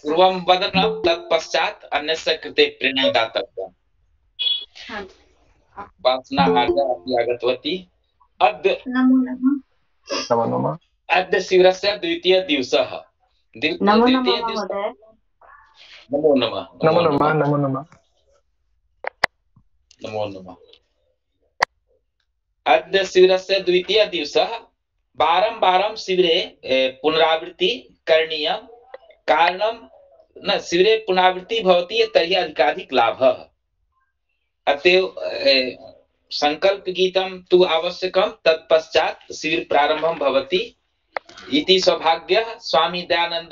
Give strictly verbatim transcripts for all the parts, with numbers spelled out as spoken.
पूर्वं वदनं तत्पश्चात् अन्यस्य कृते प्रेरणा दातव्या। वासना आर्या अपि आगतवती। अद्य नमो नमः। नमो नमः। अद्य शिबिरस्य द्वितीय दिवसः। नमो नमः महोदय। नमो नमः। नमो नमः। नमो नमः। नमो नमः। अद्य शिबिरस्य द्वितीय दिवसः। वारं वारं शिबिरे पुनरावृत्ति करणीया। कारणं न शिबिरे पुनरावृत्ति भवति तर्हि अधिकाधिक लाभः। अतएव संकल्प गीतं तु आवश्यकं, तत्पश्चात् शिबिर प्रारंभं भवति इति सौभाग्यः। स्वामी दयानंद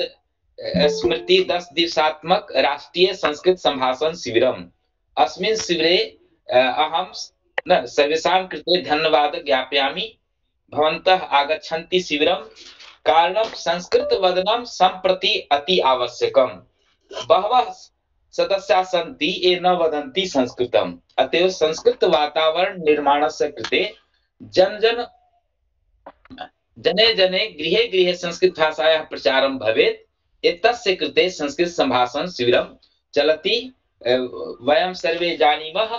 स्मृति दस दिवसात्मक राष्ट्रीय संस्कृत संभाषण शिबिरम्। अस्मिन् शिबिरे अहं न सर्वेषां कृते धन्यवाद ज्ञापयामि। भवन्तः आगच्छन्ति शिबिरं। कारणं संस्कृत वदनं सम्प्रति अति आवश्यकम्। बहवः सदस्याः सन्ति ये न वदन्ति संस्कृतम्। अतएव संस्कृत वातावरण निर्माणस्य कृते जन जन जने जने गृहे गृहे संस्कृत भाषायाः प्रचारं भवेत्। एतस्य कृते संस्कृत संभाषण शिबिरं चलति। वयं सर्वे जानीमः।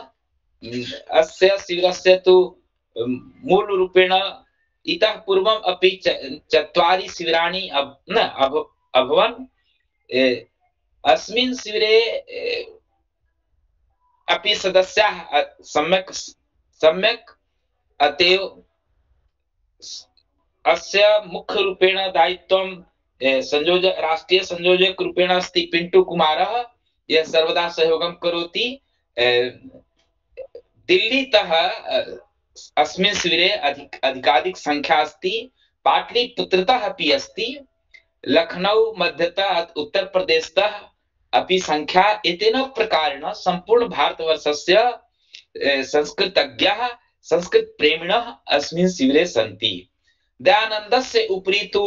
अस्य शिबिरस्य तु मूलरूपेण इतः पूर्वम् अपि चत्वारि शिबिराणि न अभवन्। अस्मिन् शिबिरे अपि सदस्याः सम्यक् सम्यक् अतएव अस्य मुख्य रूपेण दायित्वं संयोजक राष्ट्रीय संयोजक रूपेण अस्ति पिंटू कुमारः। यः सर्वदा सहयोगं करोति। दिल्लीतः अस्मिन् शिबिरे अधिक अधिकाधिक संख्या अस्ति। पाटलिपुत्रतः अपि अस्ति। लखनऊ मध्यतः उत्तर प्रदेशतः अपि संख्या एतेन प्रकारेण सम्पूर्ण भारतवर्षस्य संस्कृतज्ञाः संस्कृत प्रेमिणः अस्मिन् शिबिरे सन्ति। दयानन्दस्य उपरि तु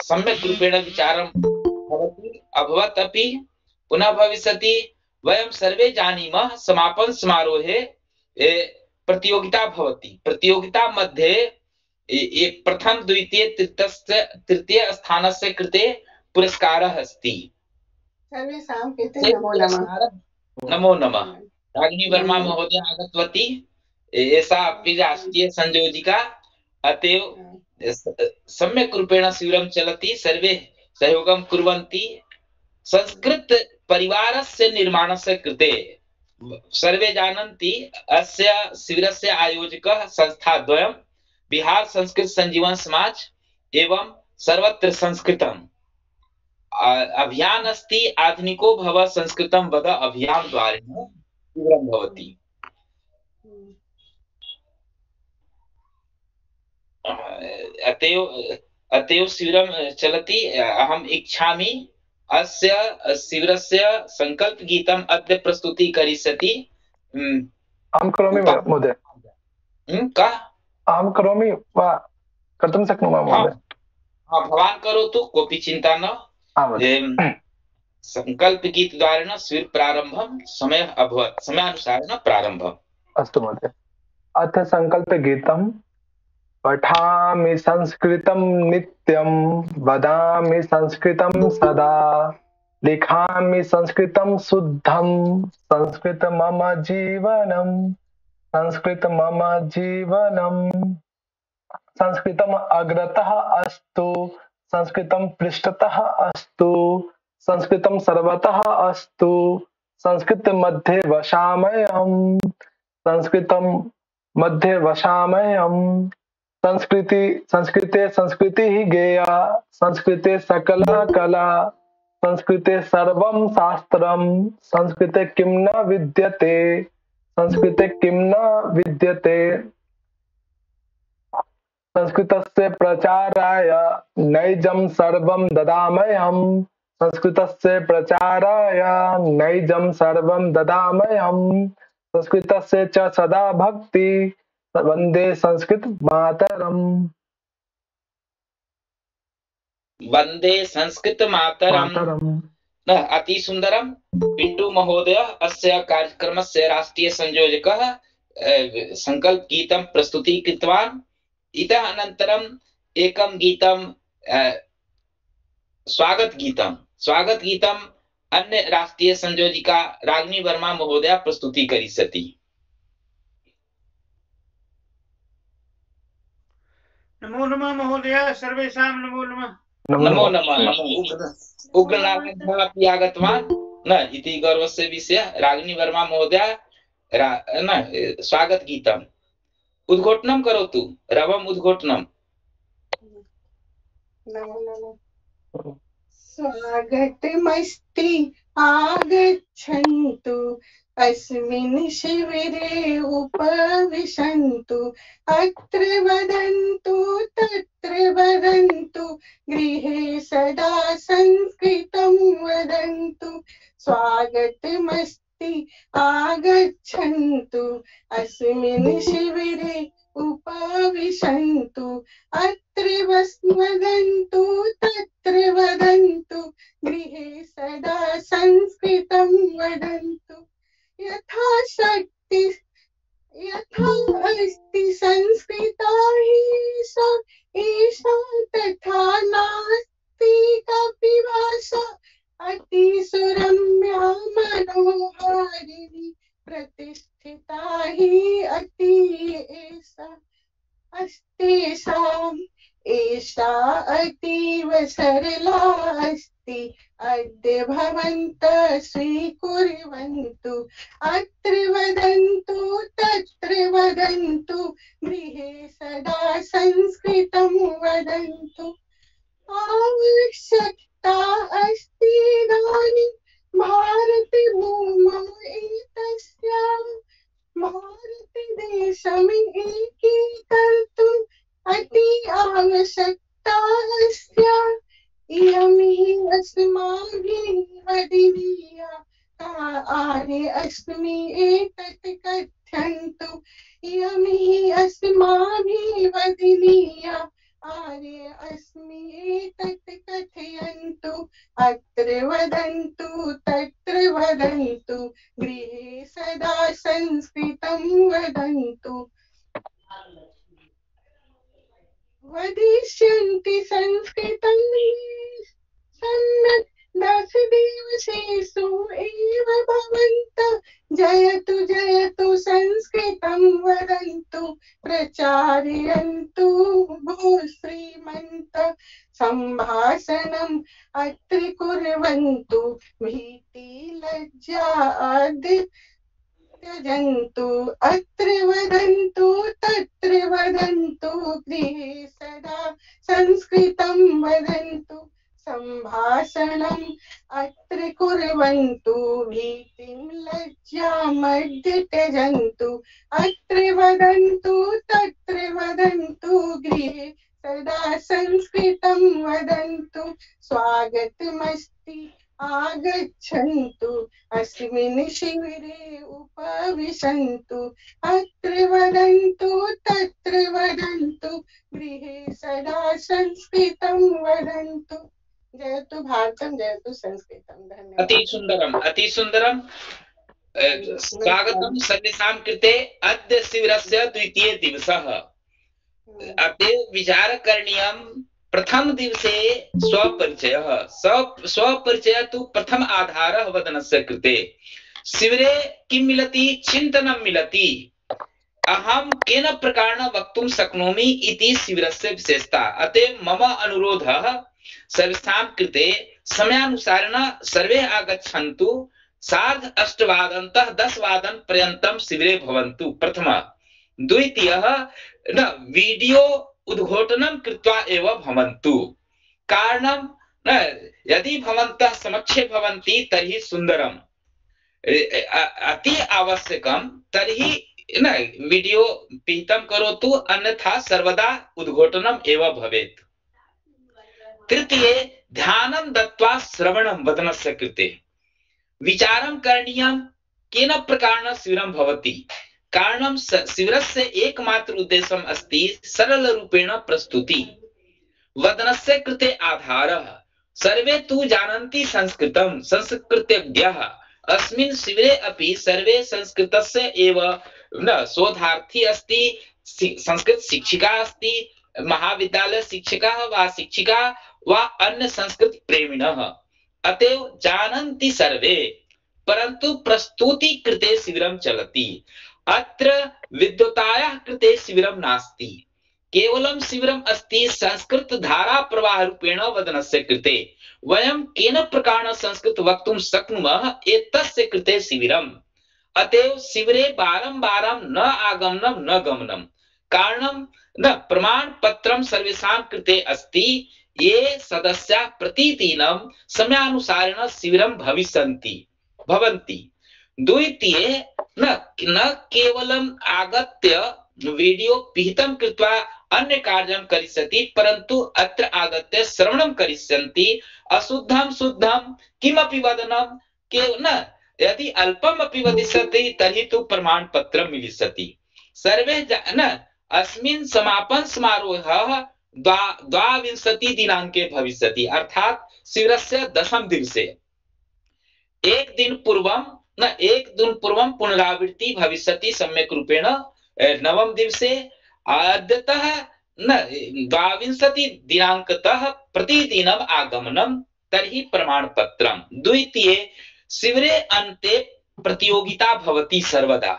सम्यक् रूपेण विचारं भवति अभवत् अपि पुनः भविष्यति। वयं सर्वे जानीमः समापन समारोहे प्रतियोगिता भवति। प्रतियोगिता मध्ये एक प्रथम द्वितीय तृतीय तृतीय स्थानस्य कृते पुरस्कारः अस्ति। सर्वेषां कृते नमो नमः। नमो नमः। रागिनी वर्मा महोदया आगतवती। एषा अपि राष्ट्रीय संयोजिका। अतएव सम्यक् रूपेण शिबिरं चलति। सर्वे सहयोगं कुर्वन्ति। संस्कृत परिवारस्य निर्माणस्य कृते सर्वे जानन्ति। अस्य शिबिरस्य आयोजकः संस्थाद्वयं बिहार संस्कृत संजीवन समाज एवं सर्वत्र संस्कृतम् अभियान अस्ति। आधुनिको भव संस्कृतं वद अभियान द्वारेण शिबिरं भवति। अतएव अतएव शिबिरं चलति। अहम् इच्छामि अस्य शिबिरस्य संकल्प गीतम् अद्य प्रस्तुति करिष्यति। अहं करोमि महोदय। कः? अहं करोमि वा कर्तुं शक्नोमि महोदय? हाँ, भवान् करोतु, कोऽपि चिन्ता न। संकल्प गीत द्वारेण शिबिर प्रारम्भं समयः अभवत्। समयानुसारेण प्रारम्भम्। अस्तु महोदय। अथ संकल्प गीतम्। पठामि संस्कृतं नित्यं वदामि संस्कृतं सदा लिखामि संस्कृतं शुद्धं संस्कृत मम जीवनं संस्कृत मम जीवनं संस्कृतम् अग्रतः अस्तु संस्कृतं पृष्ठतः अस्तु संस्कृतं सर्वतः अस्तु संस्कृत मध्ये वसामयम् संस्कृतं मध्ये वसामयम् संस्कृति संस्कृते संस्कृतिः गेया संस्कृते सकला कला संस्कृते सर्वं शास्त्रं संस्कृते किं न विद्यते संस्कृते किं न विद्यते संस्कृतस्य प्रचाराय नैजं सर्वं ददाम्यहम् संस्कृतस्य प्रचाराय नैजं सर्वं ददाम्यहम् संस्कृतस्य च सदा भक्ति वंदे संस्कृत मातरम। वंदे संस्कृत मातरम। न अति सुंदरम। पिंटू महोदय अस्य कार्यक्रमस्य राष्ट्रीय संयोजकः संकल्प गीतं प्रस्तुति कृतवान्। इतः अनन्तरम् एकं गीतं स्वागत गीतं स्वागत गीतं अन्य राष्ट्रीय संयोजिका रागिनी वर्मा महोदया प्रस्तुति करिष्यति। नमो नमः महोदय, सर्वेषां नमो नमः। नमो नमः। नमो उग्रनारायणः अपि आगतवान् न इति गौरवस्य विषयः। रागिनी वर्मा महोदया न स्वागत गीतम् उद्घोषणं करोतु। रवम् उद्घोषणम्। नमो नमः। स्वागतमस्ति आगच्छन्तु अस्मिन् शिबिरे उपविशन्तु अत्र वदन्तु तत्र वदन्तु गृहे सदा संस्कृतं वदन्तु। स्वागतमस्ति आगच्छन्तु अस्मिन् शिबिरे उपविशन्तु अत्र वदन्तु तत्र वदन्तु गृहे सदा संस्कृतं वदन्तु। यथा शक्ति यथा अस्ति संस्कृता हि सा एषा तथा नास्ति कापि भाषा अतिसुरम्या मनोहारिणी प्रतिष्ठिता हि अति एषा अस्तेषाम् एषा अतीव सरला अस्ति अद्य भवन्तः स्वीकुर्वन्तु अत्र वदन्तु तत्र वदन्तु गृहे सदा संस्कृतं वदन्तु। आवश्यकता अस्ति इदानीं भारते भूमौ एतस्याः भारतदेशम् एकीकर्तुम् अति आवश्यकता अस्याः। इयं हि अस्माभिः वदनीया आर्ये अस्मि एतत् कथयन्तु। इयं हि अस्माभिः वदनीया आर्ये अस्मि एतत् कथयन्तु अत्र वदन्तु तत्र वदन्तु गृहे सदा संस्कृतं वदन्तु। वदिष्यन्ति संस्कृतं सम्यक् दशदिवसेषु एव भवन्तः जयतु जयतु संस्कृतं वदन्तु प्रचारयन्तु भो श्रीमन्तः सम्भाषणम् अत्र कुर्वन्तु भीति लज्जा आदि त्यजन्तु अत्र वदन्तु तत्र वदन्तु गृहे सदा संस्कृतं वदन्तु सम्भाषणम् अत्र कुर्वन्तु भीतिं लज्जामद्य त्यजन्तु अत्र वदन्तु तत्र वदन्तु गृहे सदा संस्कृतं वदन्तु। स्वागतमस्ति आगच्छन्तु अस्मिन् शिबिरे उपविशन्तु अत्र वदन्तु तत्र वदन्तु गृहे सदा संस्कृतं वदन्तु। जयतु भारतम जयतु संस्कृतम। धन्यवाद। अति सुंदरम अति सुंदरम। स्वागतम सर्वेषां कृते। अद्य शिबिरस्य द्वितीय दिवसः। अतः विचार करणीयम्। प्रथम दिवसे स्वपरिचयः। स्वपरिचयः तु प्रथम आधारः वदनस्य कृते। शिबिरे किं मिलति? चिन्तनं मिलति। अहं केन प्रकारेण वक्तुं शक्नोमि इति शिबिरस्य विशेषता। अतः मम अनुरोधः सर्वेषां कृते समयानुसारेण सर्वे आगच्छन्तु। सार्ध अष्टवादनतः दशवादन पर्यन्तं शिबिरे भवन्तु। प्रथमः। द्वितीयः न वीडियो उद्घोषणं कृत्वा एव भवन्तु। कारणं न यदि भवन्तः समक्षे भवन्ति तर्हि सुन्दरम्। अति आवश्यकं तर्हि न वीडियो पिहितं करोतु, अन्यथा सर्वदा उद्घोषणम् एव भवेत्। तृतीये ध्यानं दत्त्वा श्रवणं वदनस्य कृते। विचारं करणीयं केन प्रकारेण शिबिरं भवति। कारणं शिबिरस्य एकमात्र उद्देश्यम् अस्ति सरलरूपेण प्रस्तुति। वदनस्य कृते आधारः। सर्वे तु जानन्ति संस्कृतं। संस्कृतज्ञः। अस्मिन् शिबिरे अपि सर्वे संस्कृतस्य एव न शोधार्थी अस्ति। संस्कृत शिक्षिका अस्ति, महाविद्यालय शिक्षकः वा शिक्षिका वा अन्य संस्कृत प्रेमिणः। अतएव जानन्ति सर्वे परन्तु प्रस्तुति कृते शिबिरं चलति। अत्र विद्वतायाः कृते शिबिरं नास्ति, केवलं शिबिरम् अस्ति संस्कृत धारा प्रवाह रूपेण वदनस्य कृते। वयं केन प्रकारेण संस्कृत वक्तुं शक्नुमः एतस्य कृते शिबिरम्। अतएव शिबिरे वारं वारं न आगमनं न गमनं, कारणं न प्रमाण पत्रं सर्वेषां कृते अस्ति। ये सदस्याः प्रतिदिनं समयानुसारेण शिबिरं भविष्यन्ति भवन्ति। द्वितीये न न केवलम् आगत्य वीडियो पिहितं कृत्वा अन्य कार्यं करिष्यति, परन्तु अत्र आगत्य श्रवणं करिष्यन्ति। अशुद्धं शुद्धं किमपि वदनं के न यदि अल्पम् अपि वदिष्यति तर्हि तु प्रमाण पत्रं मिलिष्यति। सर्वे न अस्मिन् समापन समारोहः द्वाविंशति दिनांके भविष्यति, अर्थात शिबिरस्य दशम दिवसे। एक दिन पूर्वं न एक दिन पूर्वं पुनरावृत्ति भविष्यति सम्यक् रूपेण नवम दिवसे। अद्यतः न द्वाविंशति दिनांकतः प्रतिदिनम् आगमनं तर्हि प्रमाणपत्रं। द्वितीये शिबिरे अन्ते प्रतियोगिता भवति सर्वदा।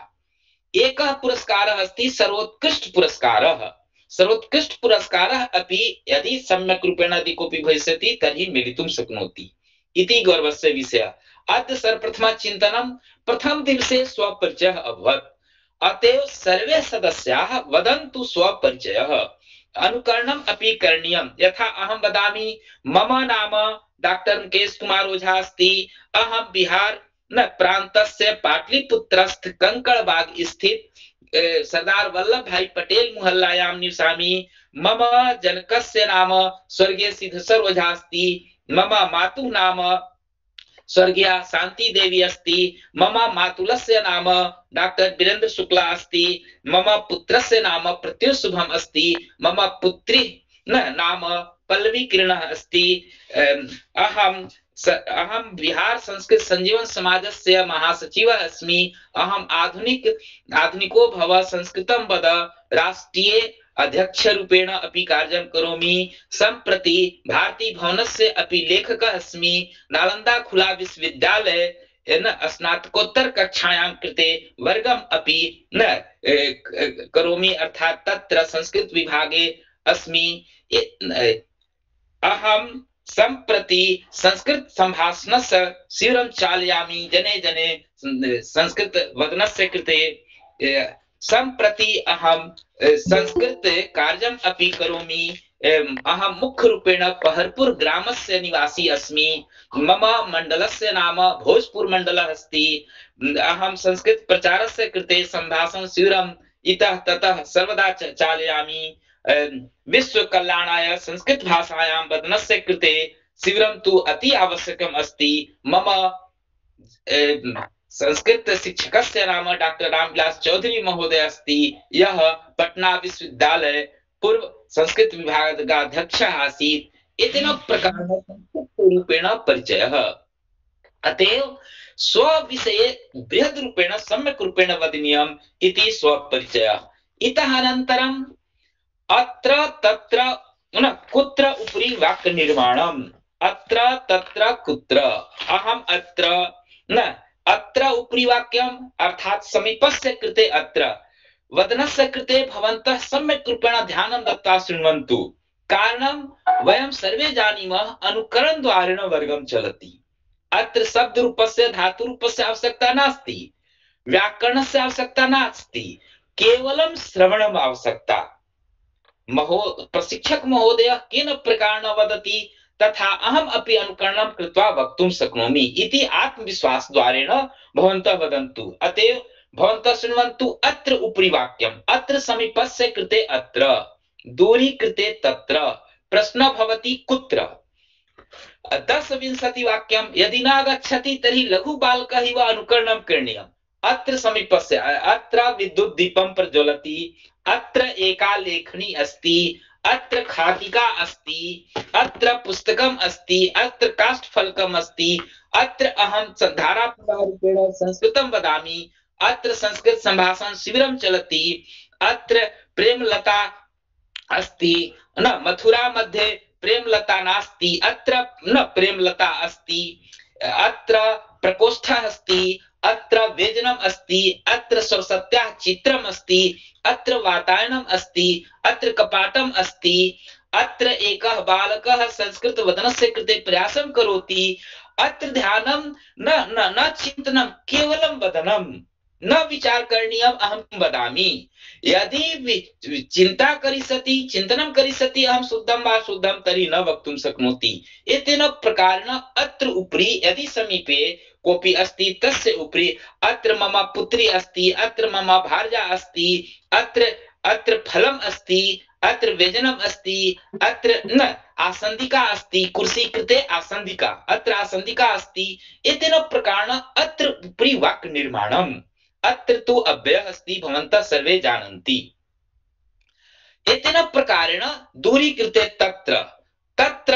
एकः पुरस्कारः अस्ति सर्वोत्कृष्ट पुरस्कारः। सर्वोत्कृष्ट पुरस्कारः अपि यदि सम्यक् रूपेण यदि कोऽपि भविष्यति तर्हि मिलितुं शक्नोति इति गौरवस्य विषयः। अद्य सर्वप्रथमं चिन्तनं प्रथम दिवसे स्वपरिचयः अभवत्। अतएव सर्वे सदस्याः वदन्तु स्वपरिचयः। अनुकरणम् अपि करणीयं। यथा अहं वदामि मम नाम डॉक्टर मुकेश कुमार ओझा अस्ति। अहं बिहार न प्रान्तस्य पाटलिपुत्रस्थ कंकड़बाग स्थित सरदार वल्लभ भाई पटेल मोहल्लायां निवसामि। मम जनकस्य नाम स्वर्गीय सिद्धेश्वर ओझा अस्ति। मम मातुः नाम स्वर्गीया शांति देवी अस्ति। मम मातुलस्य नाम डॉक्टर वीरेंद्र शुक्ला अस्ति। मम पुत्रस्य नाम प्रत्युष शुभम अस्ति। मम पुत्री न नाम पल्लवी किरणः अस्ति। अहं अहं बिहार संस्कृत संजीवन समाजस्य महासचिवः अस्मि। अहम् आधुनिक आधुनिको भव संस्कृतं वद राष्ट्रीय अध्यक्ष रूपेण अपि कार्यं करोमि। सम्प्रति भारती भवनस्य अपि लेखकः अस्मि। नालंदा खुला विश्वविद्यालये न स्नातकोत्तर कक्षायां कृते वर्गम् अपि न करोमि, अर्थात् तत्र संस्कृत विभागे अस्मि। अहं सम्प्रति संस्कृत संभाषणस्य शिबिरं चालयामि। जने जने संस्कृत वदनस्य कृते। सम्प्रति अहं संस्कृत कार्यम् अपि करोमि। अहं मुख्य रूपेण पहरपुर ग्रामस्य निवासी अस्मि। मम मंडलस्य नाम भोजपुर मंडलः अस्ति। अहं संस्कृत प्रचारस्य कृते संभाषण शिबिरम् इतः ततः सर्वदा चालयामि। विश्व कल्याणाय संस्कृत भाषायां वदनस्य कृते शिबिरं तु अति आवश्यकम् अस्ति। मम संस्कृत शिक्षकस्य नाम डॉक्टर रामविलास चौधरी महोदय अस्ति, यः पटना विश्वविद्यालय पूर्व संस्कृत विभागस्य अध्यक्षः आसीत्। एतेन प्रकारेण संस्कृतरूपेण परिचयः। अतएव स्वविषये बृहद् रूपेण सम्यक् रूपेण वदनीयम् इति स्वपरिचयः। इतः अनन्तरम् अत्र तत्र न कुत्र उपरि वाक्य निर्माणम्। अत्र तत्र कुत्र। अहम् अत्र न अत्र उपरि वाक्यम् अर्थात् समीपस्य कृते अत्र। वदनस्य कृते भवन्तः सम्यक् रूपेण ध्यानं दत्त्वा शृण्वन्तु। कारणं वयं सर्वे जानीमः अनुकरणद्वारेण वर्गं चलति। अत्र शब्दरूपस्य धातुरूपस्य आवश्यकता नास्ति, व्याकरणस्य आवश्यकता नास्ति, केवलं श्रवणम् आवश्यकता। महो प्रशिक्षक महोदयः केन प्रकारेण वदति तथा अहम् अपि अनुकरणं कृत्वा वक्तुं शक्नोमि इति आत्मविश्वासद्वारेण भवन्तः वदन्तु। अतएव भवन्तः शृण्वन्तु अत्र उपरि वाक्यम्। अत्र समीपस्य कृते अत्र, दूरी कृते तत्र। प्रश्नः भवति कुत्र। दश विंशति वाक्यं यदि न आगच्छति तर्हि लघु बालकः इव अनुकरणं करणीयम्। अत्र समीपस्य अत्र विद्युत् दीपं प्रज्वलति। अत्र एका लेखनी अस्ति। अत्र खादिका अस्ति। अत्र पुस्तकम् अस्ति। अत्र काष्ठफलकम् अस्ति। अत्र अहं धाराप्रवाहरूपेण संस्कृतं वदामि। अत्र संस्कृत संभाषण शिबिरं चलति। अत्र प्रेमलता अस्ति। न मथुरा मध्ये प्रेमलता नास्ति, अत्र न प्रेमलता अस्ति, अत्र प्रकोष्ठः अस्ति, अत्र व्यजनम् अस्ति, अत्र सरस्वत्याः चित्रम् अस्ति, अत्र वातायनम् अस्ति, अत्र कपाटम् अस्ति, अत्र एकः बालकः संस्कृत वदनस्य कृते प्रयासं करोति, अत्र ध्यानं न न न चिन्तनं, केवलं वदनं, न विचार करणीयम् अहं वदामि। यदि चिन्ता करिष्यति, चिन्तनं करिष्यति अहं शुद्धं वा शुद्धं तर्हि न वक्तुं शक्नोति। एतेन प्रकारेण अत्र उपरि यदि समीपे कोऽपि अस्ति, तस्य उपरि अत्र मम पुत्री अस्ति, अत्र मम भार्या अस्ति, अत्र अत्र फलम् अस्ति, अत्र व्यजनम् अस्ति, अत्र न आसन्दिका अस्ति, कुर्सी कृते आसन्दिका, अत्र आसन्दिका अस्ति। एतेन प्रकारेण अत्र उपरि वाक् निर्माणम्। अत्र तु अव्ययः अस्ति, भवन्तः सर्वे जानन्ति। एतेन प्रकारेण दूरीकृते तत्र तत्र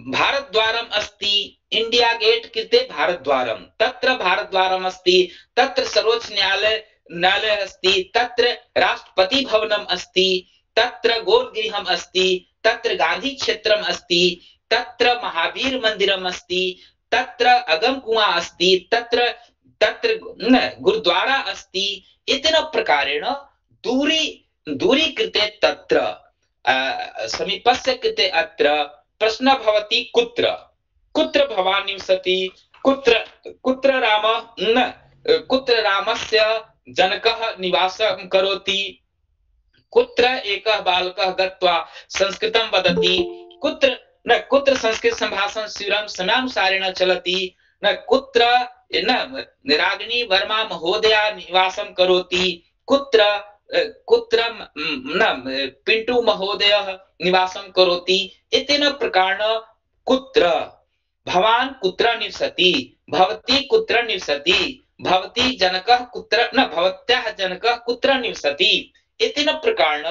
भारद्वारम् अस्ति, इंडिया गेट कृते भारद्वारम्, तत्र भारद्वारम् अस्ति, तत्र सर्वोच्च न्यायालय न्यायालय अस्ति, तत्र राष्ट्रपति भवनम् अस्ति, तत्र गोलगृहम् अस्ति, तत्र गांधी क्षेत्रम् अस्ति, तत्र महावीर मन्दिरम् अस्ति, तत्र अगम कुआं अस्ति, तत्र तत्र गुरुद्वारा अस्ति। एतेन प्रकारेण दूरी दूरी कृते तत्र समीपस्य कृते अत्र प्रश्नः भवति, कुत्र कुत्र भवान् निवसति, कुत्र कुत्र राम न कुत्र रामस्य जनकः निवासं करोति, कुत्र एकः बालकः गत्वा संस्कृतं वदति, कुत्र न कुत्र संस्कृत संभाषण शिबिरं समयानुसारेण चलति, न कुत्र न रागिनी वर्मा महोदया निवासं करोति, कुत्र कुत्र न पिंटू महोदयः निवासं करोति। एतेन प्रकारेण कुत्र भवान् कुत्र निवसति, भवती कुत्र निवसति, भवती जनकः कुत्र न भवत्याः जनकः कुत्र निवसति। एतेन प्रकारेण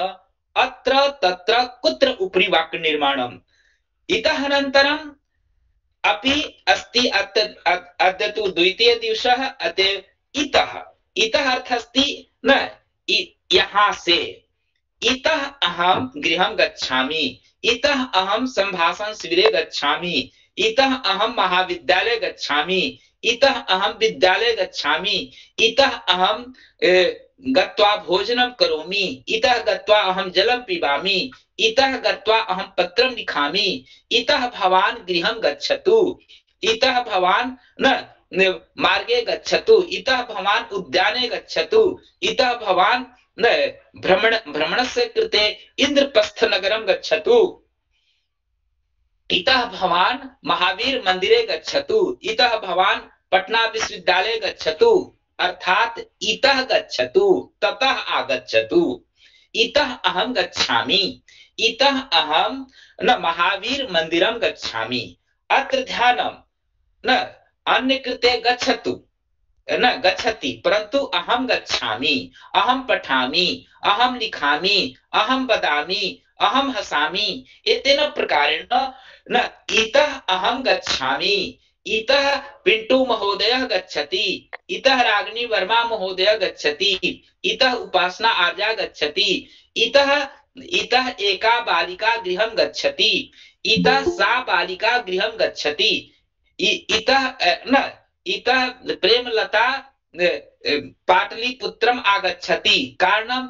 अत्र तत्र कुत्र उपरि वाक् निर्माणम्। इतः अनन्तरम् अपि अस्ति, अद्य तु द्वितीय दिवसः, अतः इतः इतः अर्थः अस्ति न यहाँ से, इतः अहं गृहं गच्छामि, इतः अहं संभाषण शिबिरे गच्छामि, इतः अहं महाविद्यालये गच्छामि, इतः अहं विद्यालये गच्छामि, इतः अहं गत्वा भोजनं करोमि, इतः गत्वा अहं जलं पिबामि, इतः गत्वा अहं पत्रं लिखामि, इतः भवान् गृहं गच्छतु, इतः भवान् न मार्गे गच्छतु, इतः भवान् उद्याने गच्छतु, इतः भवान् न भ्रमण भ्रमणस्य कृते इंद्रप्रस्थ नगरं गच्छतु, इतः भवान् महावीर मंदिरे गच्छतु, इतः भवान् पटना विश्वविद्यालये गच्छतु। अर्थात इतः गच्छतु, ततः आगच्छतु, इतः अहं गच्छामि, इतः अहं न महावीर मंदिरं गच्छामि। अत्र ध्यानं न अन्य कृते गच्छतु न गच्छति, परन्तु अहं गच्छामि, अहं पठामि, अहं लिखामि, अहं वदामि, अहं हसामि। एतेन प्रकारेण न इतः अहं गच्छामि, इतः पिंटू महोदयः गच्छति, इतः रागिनी वर्मा महोदयः गच्छति, इतः उपासना आर्या गच्छति, इतः इतः एका बालिका गृहं गच्छति, इतः सा बालिका गृहं गच्छति, इतः न इतः प्रेमलता पाटलिपुत्रम् आगच्छति। कारणं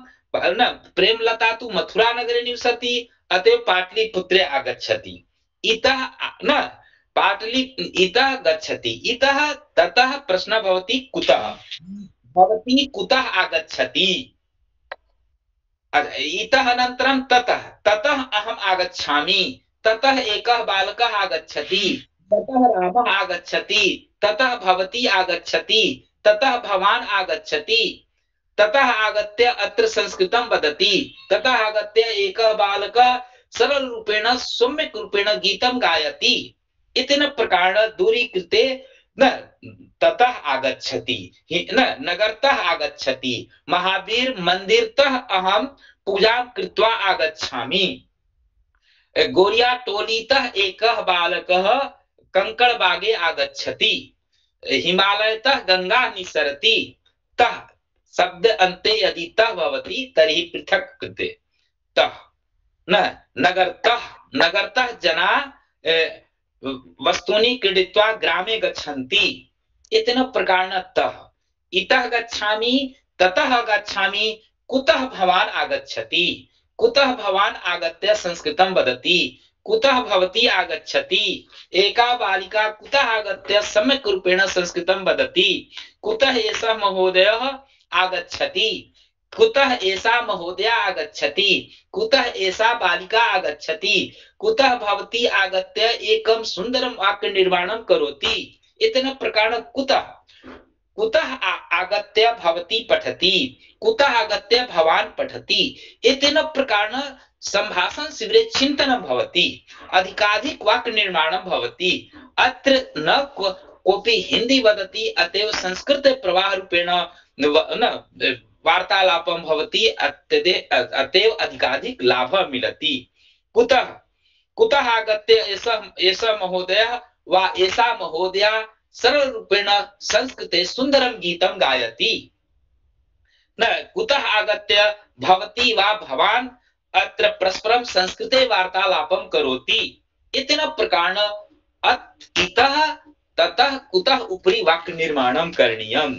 न प्रेमलता तु मथुरा नगरे निवसति, अतः पाटलिपुत्रे आगच्छति। इतः न पाटलि इतः गच्छति, इतः ततः प्रश्नः भवति कुतः, भवती कुतः आगच्छति। इतः अनन्तरं ततः ततः अहम् आगच्छामि, ततः एकः बालकः आगच्छति, ततः रामः आगच्छति, ततः भवती आगच्छति, ततः भवान् आगच्छति, ततः आगत्य अत्र संस्कृतं वदति, ततः आगत्य एकः बालकः सरल रूपेण सम्यक् रूपेण गीतं गायति। इतेन प्रकारेण दूरीकृते न ततः आगच्छति, न नगरतः आगच्छति, महावीर मंदिरतः अहं पूजां कृत्वा आगच्छामि। गोरिया टोलीतः एकः बालकः कंकड़बागे आगच्छति, हिमालयतः गंगा निसरति। तः शब्द अन्ते यदि तः भवति तर्हि पृथक् कृते तः न नगरतः नगरतः जना वस्तूनि क्रीडित्वा ग्रामे गच्छन्ति इति प्रकारेण तः इतः गच्छामि ततः गच्छामि कुतः भवान् आगच्छति कुतः भवान् आगत्य संस्कृतं वदति कुतः भवती आगच्छति एका बालिका कुतः आगत्य सम्यक् रूपेण संस्कृतं वदति कुतः एषः महोदयः आगच्छति कुतः एषा महोदया आगच्छति कुतः एषा बालिका आगच्छति कुतः भवती आगत्य एकं सुन्दरं वाक्यनिर्माणं करोति इत्यनेन प्रकारेण कुतः कुतः आगत्य भवती पठति कुतः आगत्य भवान् पठति इत्यनेन प्रकारेण संभाषण शिबिरे चिन्तनं भवति अधिकाधिक वाक्यनिर्माणं भवति अत्र न कोऽपि हिंदी वदति अतएव संस्कृत प्रवाह रूपेण न वार्तालापं भवति अतएव अधिकाधिक लाभः मिलति कुतः कुतः आगत्य एषः एषः महोदयः वा एषा महोदया सरल रूपेण संस्कृते सुन्दरं गीतं गायति न कुतः आगत्य भवती वा भवान् अत्र परस्परं संस्कृते वार्तालापं करोति इत्यनेन प्रकारेण इतः ततः कुतः उपरि वाक्यनिर्माणं करणीयम्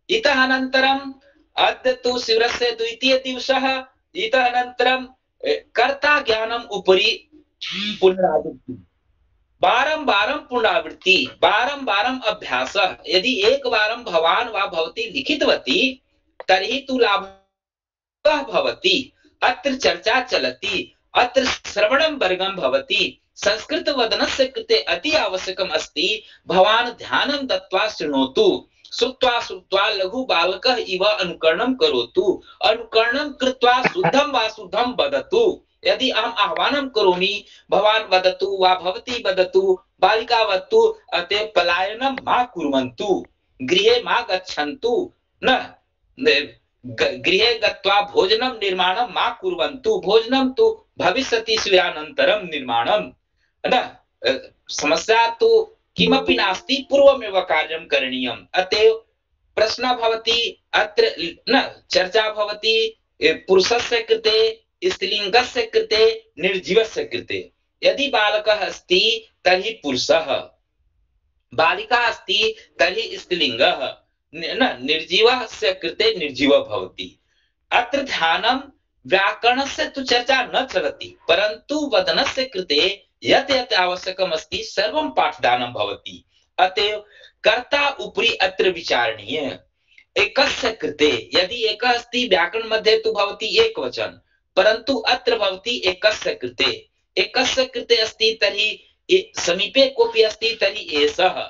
इतः अनन्तरम् अद्य तु शिबिरस्य द्वितीय दिवसः इतः अनन्तरं कर्ता ज्ञानम् उपरि पुनरावृत्ति बारं बारं पुनरावृत्ति बारं बारं अभ्यासः यदि एकवारं भवान् वा भवती लिखितवती तर्हि तु लाभः भवति अत्र चर्चा चलति अत्र श्रवणं वर्गं भवति संस्कृत वदनस्य कृते अति आवश्यकम् अस्ति भवान् ध्यानं दत्वा शृणोतु श्रुत्वा श्रुत्वा लघु बालकः इव अनुकरणं करोतु अनुकरणं कृत्वा शुद्धं वा शुद्धं वदतु यदि अहम् आह्वानं करोमि भवान् वदतु वा भवती वदतु बालिका वदतु अतः पलायनं मा कुर्वन्तु गृहे मा गच्छन्तु न गृहे गत्वा भोजनं निर्माणं मा कुर्वन्तु भोजनं तु भविष्यति शिबिरानन्तरं निर्माणं न समस्या तु किमपि नास्ति पूर्वमेव कार्यं करणीयम् अतएव प्रश्नः भवति अत्र न चर्चा भवति पुरुषस्य कृते स्त्रीलिङ्गस्य कृते निर्जीवस्य कृते यदि बालकः अस्ति तर्हि पुरुषः बालिका अस्ति तर्हि स्त्रीलिङ्गः न निर्जीवस्य कृते निर्जीवः भवति अत्र ध्यानं व्याकरणस्य तु चर्चा न चलति परन्तु वदनस्य कृते यत् यत् आवश्यकम् अस्ति सर्वं पाठदानं भवति अतएव कर्ता उपरि अत्र विचारणीय एकस्य कृते यदि एकः अस्ति व्याकरण मध्ये तु भवति एकवचन परन्तु अत्र भवति एकस्य कृते एकस्य कृते अस्ति तर्हि समीपे कोऽपि अस्ति तर्हि एषः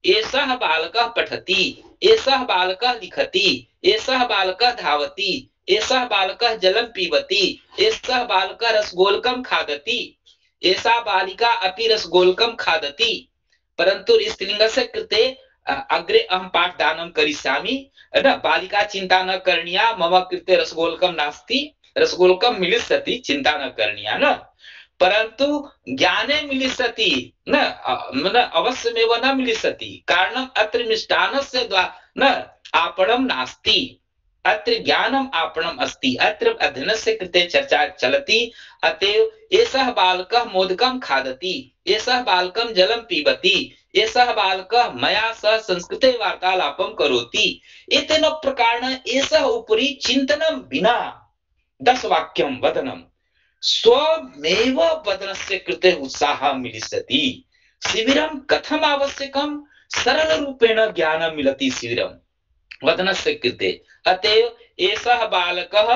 एषः बालकः पठति एषः बालकः लिखति एषः बालकः धावति एषः बालकः जलं पिबति एषः बालकः रसगोलकं खादति एषा बालिका अपि रसगोलकं खादति परन्तु स्त्रीलिङ्गस्य कृते अग्रे अहं पाठदानं करिष्यामि न बालिका चिन्ता न करणीया मम कृते रसगोलकं नास्ति रसगोलकं मिलिष्यति चिन्ता न करणीया न परन्तु ज्ञाने मिलिष्यति न न अवश्यमेव न मिलिष्यति कारणम् अत्र मिष्टान्नस्य न आपणं नास्ति अत्र ज्ञानम् आपणम् अस्ति अत्र अध्ययनस्य कृते चर्चा चलति अतएव एषः बालकः मोदकं खादति एषः बालकं जलं पिबति एषः बालकः मया सह संस्कृते वार्तालापं करोति एतेन प्रकारेण एषः उपरि चिन्तनं विना दश वाक्यं वदनं स्वमेव वदनस्य कृते उत्साहः मिलिष्यति शिबिरं कथम् आवश्यकं सरलरूपेण ज्ञानं मिलति शिबिरं वदनस्य कृते अतएव एषः बालकः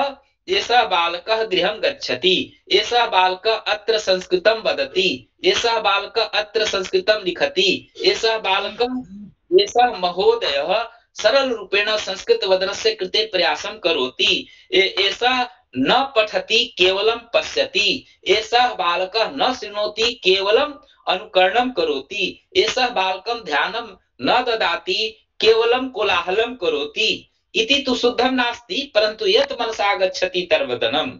एषः बालकः गृहं गच्छति एषः बालकः अत्र संस्कृतं वदति एषः बालकः अत्र संस्कृतं लिखति एषः बालकः एषः महोदयः सरल रूपेण संस्कृत वदनस्य कृते प्रयासं करोति एषः न पठति केवलं पश्यति एषः बालकः न शृणोति केवलं अनुकरणं करोति एषः बालकं ध्यानं न ददाति केवलं कोलाहलं करोति इति तु शुद्धं नास्ति परन्तु यत् मनसा गच्छति तद्वदनम्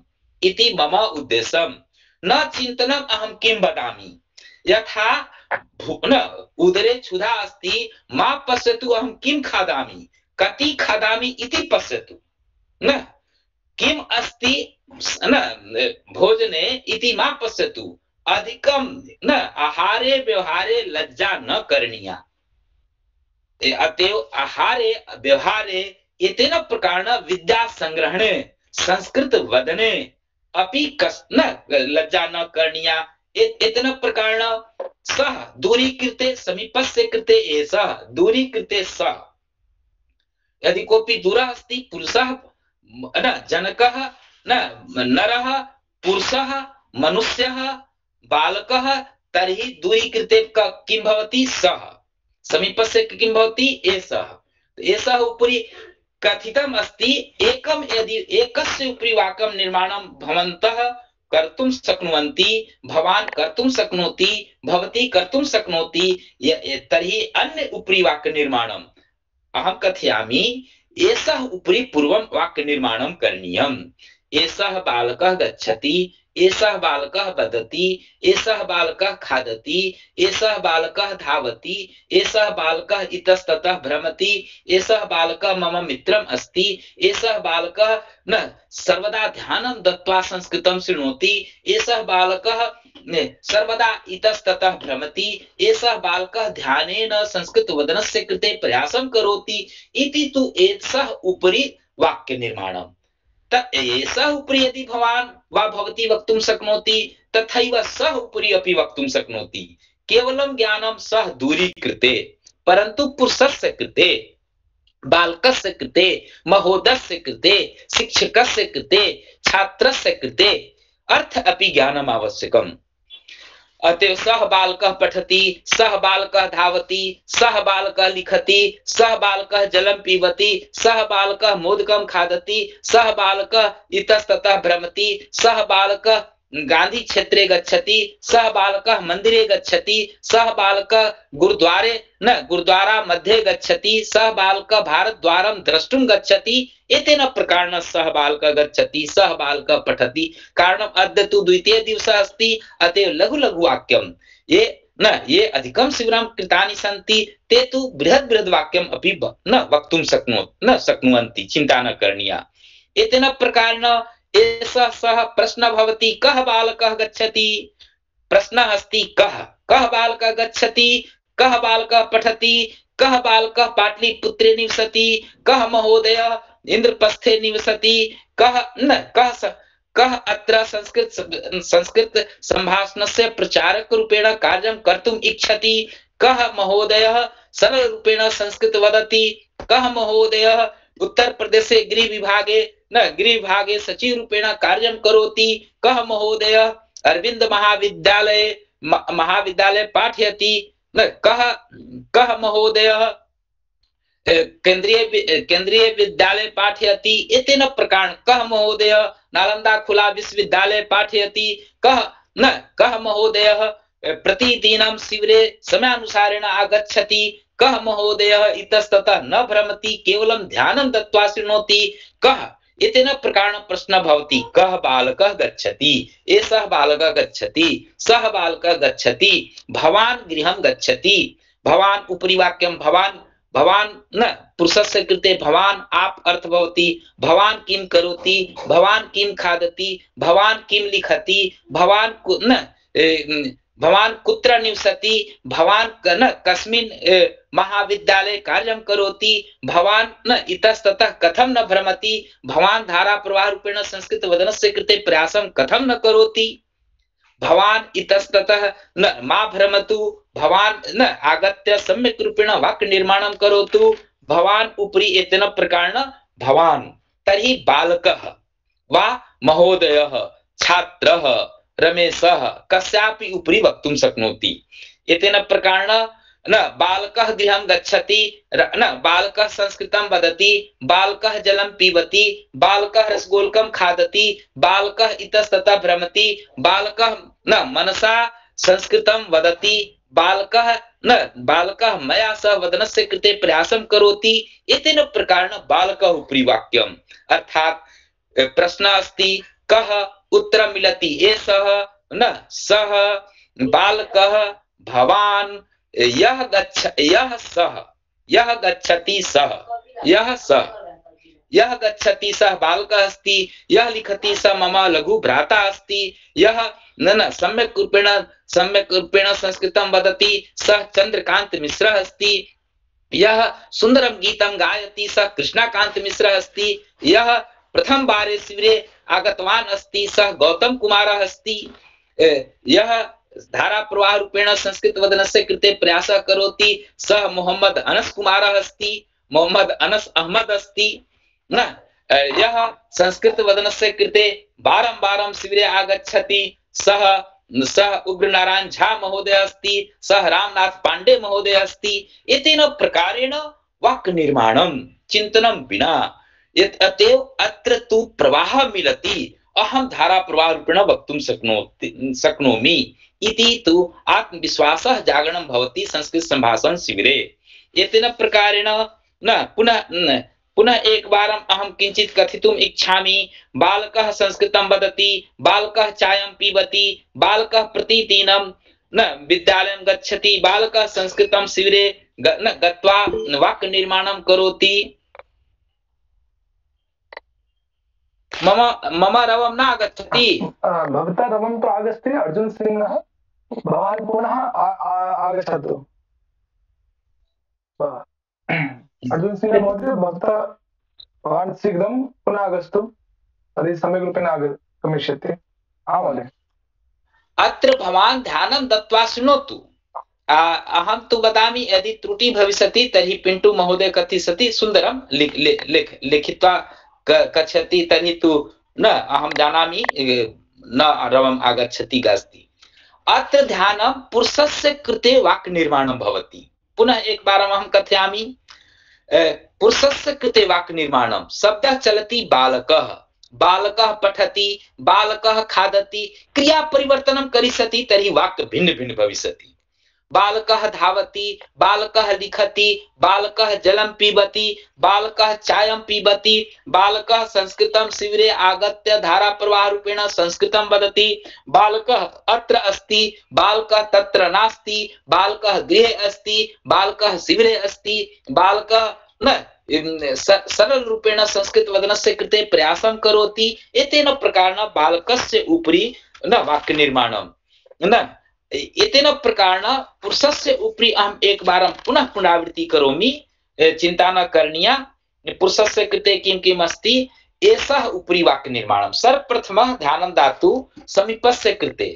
इति मम उद्देश्यं न चिन्तनम् अहं किं वदामि यथा न उदरे क्षुधा अस्ति मा पश्यतु अहं किं खादामि कति खादामि इति पश्यतु न किम् अस्ति न भोजने इति मा पश्यतु अधिकम न आहारे व्यवहारे लज्जा न करणीया। अतएव आहारे व्यवहारे एतेन प्रकारेण विद्या संग्रहणे संस्कृत वदने अपि कस न लज्जा न करणीया। एतेन प्रकारेण सह दूरीकृते समीपस्य कृते एषः दूरीकृते सः यदि कोऽपि दूरः अस्ति पुरुषः न जनकः न नरः पुरुषः मनुष्यः बालकः तर्हि दूरीकृते किं भवति सः समीपस्य किं भवति एषः। एषः उपरि कथितम् अस्ति एकं यदि एकस्य उपरि वाक्यं निर्माणं भवन्तः कर्तुं शक्नुवन्ति भवान् कर्तुं शक्नोति भवती कर्तुं शक्नोति तर्हि अन्य उपरि वाक्य निर्माणम् अहं कथयामि। एषः उपरि पूर्वं वाक्य निर्माणं करणीयम्। एषः बालकः गच्छति एषः बालकः वदति एषः बालकः खादति एषः बालकः धावति एषः बालकः इतस्ततः भ्रमति एषः बालकः मम मित्रम् अस्ति एषः बालकः न सर्वदा ध्यानं दत्त्वा संस्कृतं शृणोति एषः बालकः सर्वदा इतस्ततः भ्रमति एषः बालकः ध्यानेन संस्कृतवदनस्य कृते प्रयासं करोति इति तु एषः उपरि वाक्य निर्माणम्। एषः उपरि यदि भवान् वा भवती वक्तुं शक्नोति तथैव सः उपरि अपि वक्तुं शक्नोति। केवलं ज्ञानं सः दूरीकृते परन्तु पुरुषस्य कृते बालकस्य कृते महोदयस्य कृते शिक्षकस्य कृते छात्रस्य कृते अर्थ अपि ज्ञानम् आवश्यकम्। अतः सः बालकः पठति सः बालकः धावति सः बालकः लिखति सः बालकः जलं पीबति सः बालकः मोदकं खादति सः बालकः इतस्ततः भ्रमति सः बालकः गांधी क्षेत्रे गच्छति सः बालकः मंदिरे गच्छति सः बालकः गुरुद्वारे न गुरुद्वारा मध्ये गच्छति सः बालकः भारतद्वारं द्रष्टुं गच्छति। एतेन प्रकारेण सः बालकः गच्छति सः बालकः पठति। कारणम् अद्य तु द्वितीय दिवसः अस्ति अतएव लघु लघु वाक्यं ये न ये अधिकं शिबिरं कृतानि सन्ति ते तु बृहत् बृहत् वाक्यम् अपि न वक्तुं शक्नो न शक्नुवन्ति। चिन्ता न करणीया। एतेन प्रकारेण एषः सः प्रश्नः भवति कः बालकः गच्छति प्रश्नः अस्ति कः कः बालकः गच्छति कः बालकः पठति कः बालकः पाटलिपुत्रे निवसति कः महोदयः इंद्रप्रस्थे निवसति कः न कः कः अत्र संस्कृत संस्कृत संभाषणस्य प्रचारक रूपेण कार्यं कर्तुम् इच्छति कः महोदयः सरल रूपेण संस्कृत वदति कः महोदयः उत्तर प्रदेशे गृह विभागे न गृह विभागे सचिव रूपेण कार्यं करोति कः महोदयः अरविंद महाविद्यालये महाविद्यालये पाठयति न कः कः महोदयः केंद्रीय केंद्रीय विद्यालये पाठयति। एतेन प्रकारेण कः महोदयः नालंदा खुला विश्वविद्यालये पाठयति कः न कः महोदयः प्रतिदिनं शिबिरे समयानुसारेण आगच्छति कः महोदयः इतस्ततः न भ्रमति केवलं ध्यानं दत्त्वा शृणोति कः। एतेन प्रकारेण प्रश्नः भवति कः बालकः गच्छति एषः बालकः गच्छति सः बालकः गच्छति भवान् गृहं गच्छति भवान् उपरि वाक्यं भवान् भवान् न पुरुषस्य कृते भवान् आप अर्थ भवति भवान् किं करोति भवान् किं खादति भवान् किं लिखति भवान् न भवान् कुत्र निवसति भवान् न कस्मिन् महाविद्यालये कार्यं करोति भवान् न इतस्ततः कथं न भ्रमति भवान् धारा प्रवाह रूपेण संस्कृत वदनस्य कृते प्रयासं कथं न करोति भवान् इतस्ततः न मा भ्रमतु भवान् न आगत्य सम्यक् रूपेण वाक्य निर्माणं करोतु भवान् उपरि एतेन प्रकारेण भवान् तर्हि बालकः वा महोदयः छात्रः रमेशः कस्यापि उपरि वक्तुं शक्नोति। एतेन प्रकारेण न बालकः गृहं गच्छति न बालकः संस्कृतं वदति बालकः जलं पीबति बालकः रसगोलकं खादति बालकः इतस्ततः भ्रमति बालकः न मनसा संस्कृतं वदति बालकः न बालकः मया सह वदनस्य कृते प्रयासं करोति। एतेन प्रकारेण बालकः उपरि वाक्यम् अर्थात् प्रश्नः अस्ति कः उत्तरं मिलति एषः न सः बालकः भवान् यः गच्छ यः सः यः गच्छति सः यः सः यः गच्छति सः बालकः अस्ति, यः लिखति सः मम लघु भ्राता अस्ति, यः न न सम्यक् रूपेण सम्यक् रूपेण संस्कृतं वदति सः चन्द्रकान्त मिश्रः अस्ति, यः सुन्दरं गीतं गायति सः कृष्णकान्त मिश्रः अस्ति, यः प्रथम बारे शिविरे आगतवान् अस्ति सः गौतम कुमारः अस्ति, यः धारा प्रवाह रूपेण संस्कृत वदनस्य कृते प्रयासः करोति सः मोहम्मद अनस कुमारः अस्ति, मोहम्मद अनस अहमद अस्ति न, यः संस्कृत वदनस्य कृते बारंबारं शिविरे आगच्छति सः सः उग्रनारायण झा महोदय अस्ति, सः रामनाथ पांडे महोदय अस्ति। एतेन प्रकारेण वाक् निर्माणं चिन्तनं विना यत् अतएव अत्र तु प्रवाहः मिलति, अहं धारा प्रवाह रूपेण वक्तुं शक्नोति शक्नोमि इति तु आत्मविश्वासः जागरणं भवति संस्कृत संभाषण शिविरे। एतेन प्रकारेण न पुनः न, पुनः एक बारम् अहं किञ्चित् कथितुम् इच्छामि। बालकः संस्कृतं वदति, बालकः चायं पिबति, बालकः प्रतिदिनं न विद्यालयं गच्छति, बालकः संस्कृतं शिविरे न गत्वा वाक् निर्माणं करोति। मम मम रवं न आगच्छति। भवता रवं तु आगच्छति। अर्जुन सिंहः भवान् पुनः आगच्छतु। अर्जुन सिंह महोदय भवता भवान् शीघ्रं पुनः आगच्छतु, तर्हि सम्यक् रूपेण आगमिष्यति। आम् महोदय। अत्र भवान् ध्यानं दत्त्वा शृणोतु। अहं तु वदामि, यदि त्रुटि भविष्यति तर्हि पिण्टु महोदय कथयति सुन्दरं लिख लिख लिखित्वा कथयति, तर्हि तु न अहं जानामि न रवम् आगच्छति अस्ति। अत्र ध्यानं पुरुषस्य कृते वाक् निर्माणं भवति। पुनः एक बारम् अहं कथयामि, पुरुषस्य कृते वाक् निर्माणं। शब्दः चलति बालकः, बालकः पठति, बालकः खादति, क्रिया परिवर्तनं करिष्यति तर्हि वाक् भिन्न भिन्न भविष्यति। बालकः धावति, बालकः लिखति, बालकः जलं पिबति, बालकः चायं पिबति, बालकः संस्कृतं शिविरे आगत्य धारा प्रवाह रूपेण संस्कृतं वदति, बालकः अत्र अस्ति, बालकः तत्र नास्ति, बालकः गृहे अस्ति, बालकः शिविरे अस्ति, बालकः न सरल रूपेण संस्कृत वदनस्य कृते प्रयासं करोति। एतेन प्रकारेण बालकस्य उपरि न वाक्य निर्माणं न एतेन प्रकारेण पुरुषस्य उपरि अहम् एकवारं पुनः पुनरावृत्ति करोमि, चिन्ता न करणीया। पुरुषस्य कृते किं किम् अस्ति, एषः उपरि वाक्य निर्माणं। सर्वप्रथमः ध्यानं दातु समीपस्य कृते।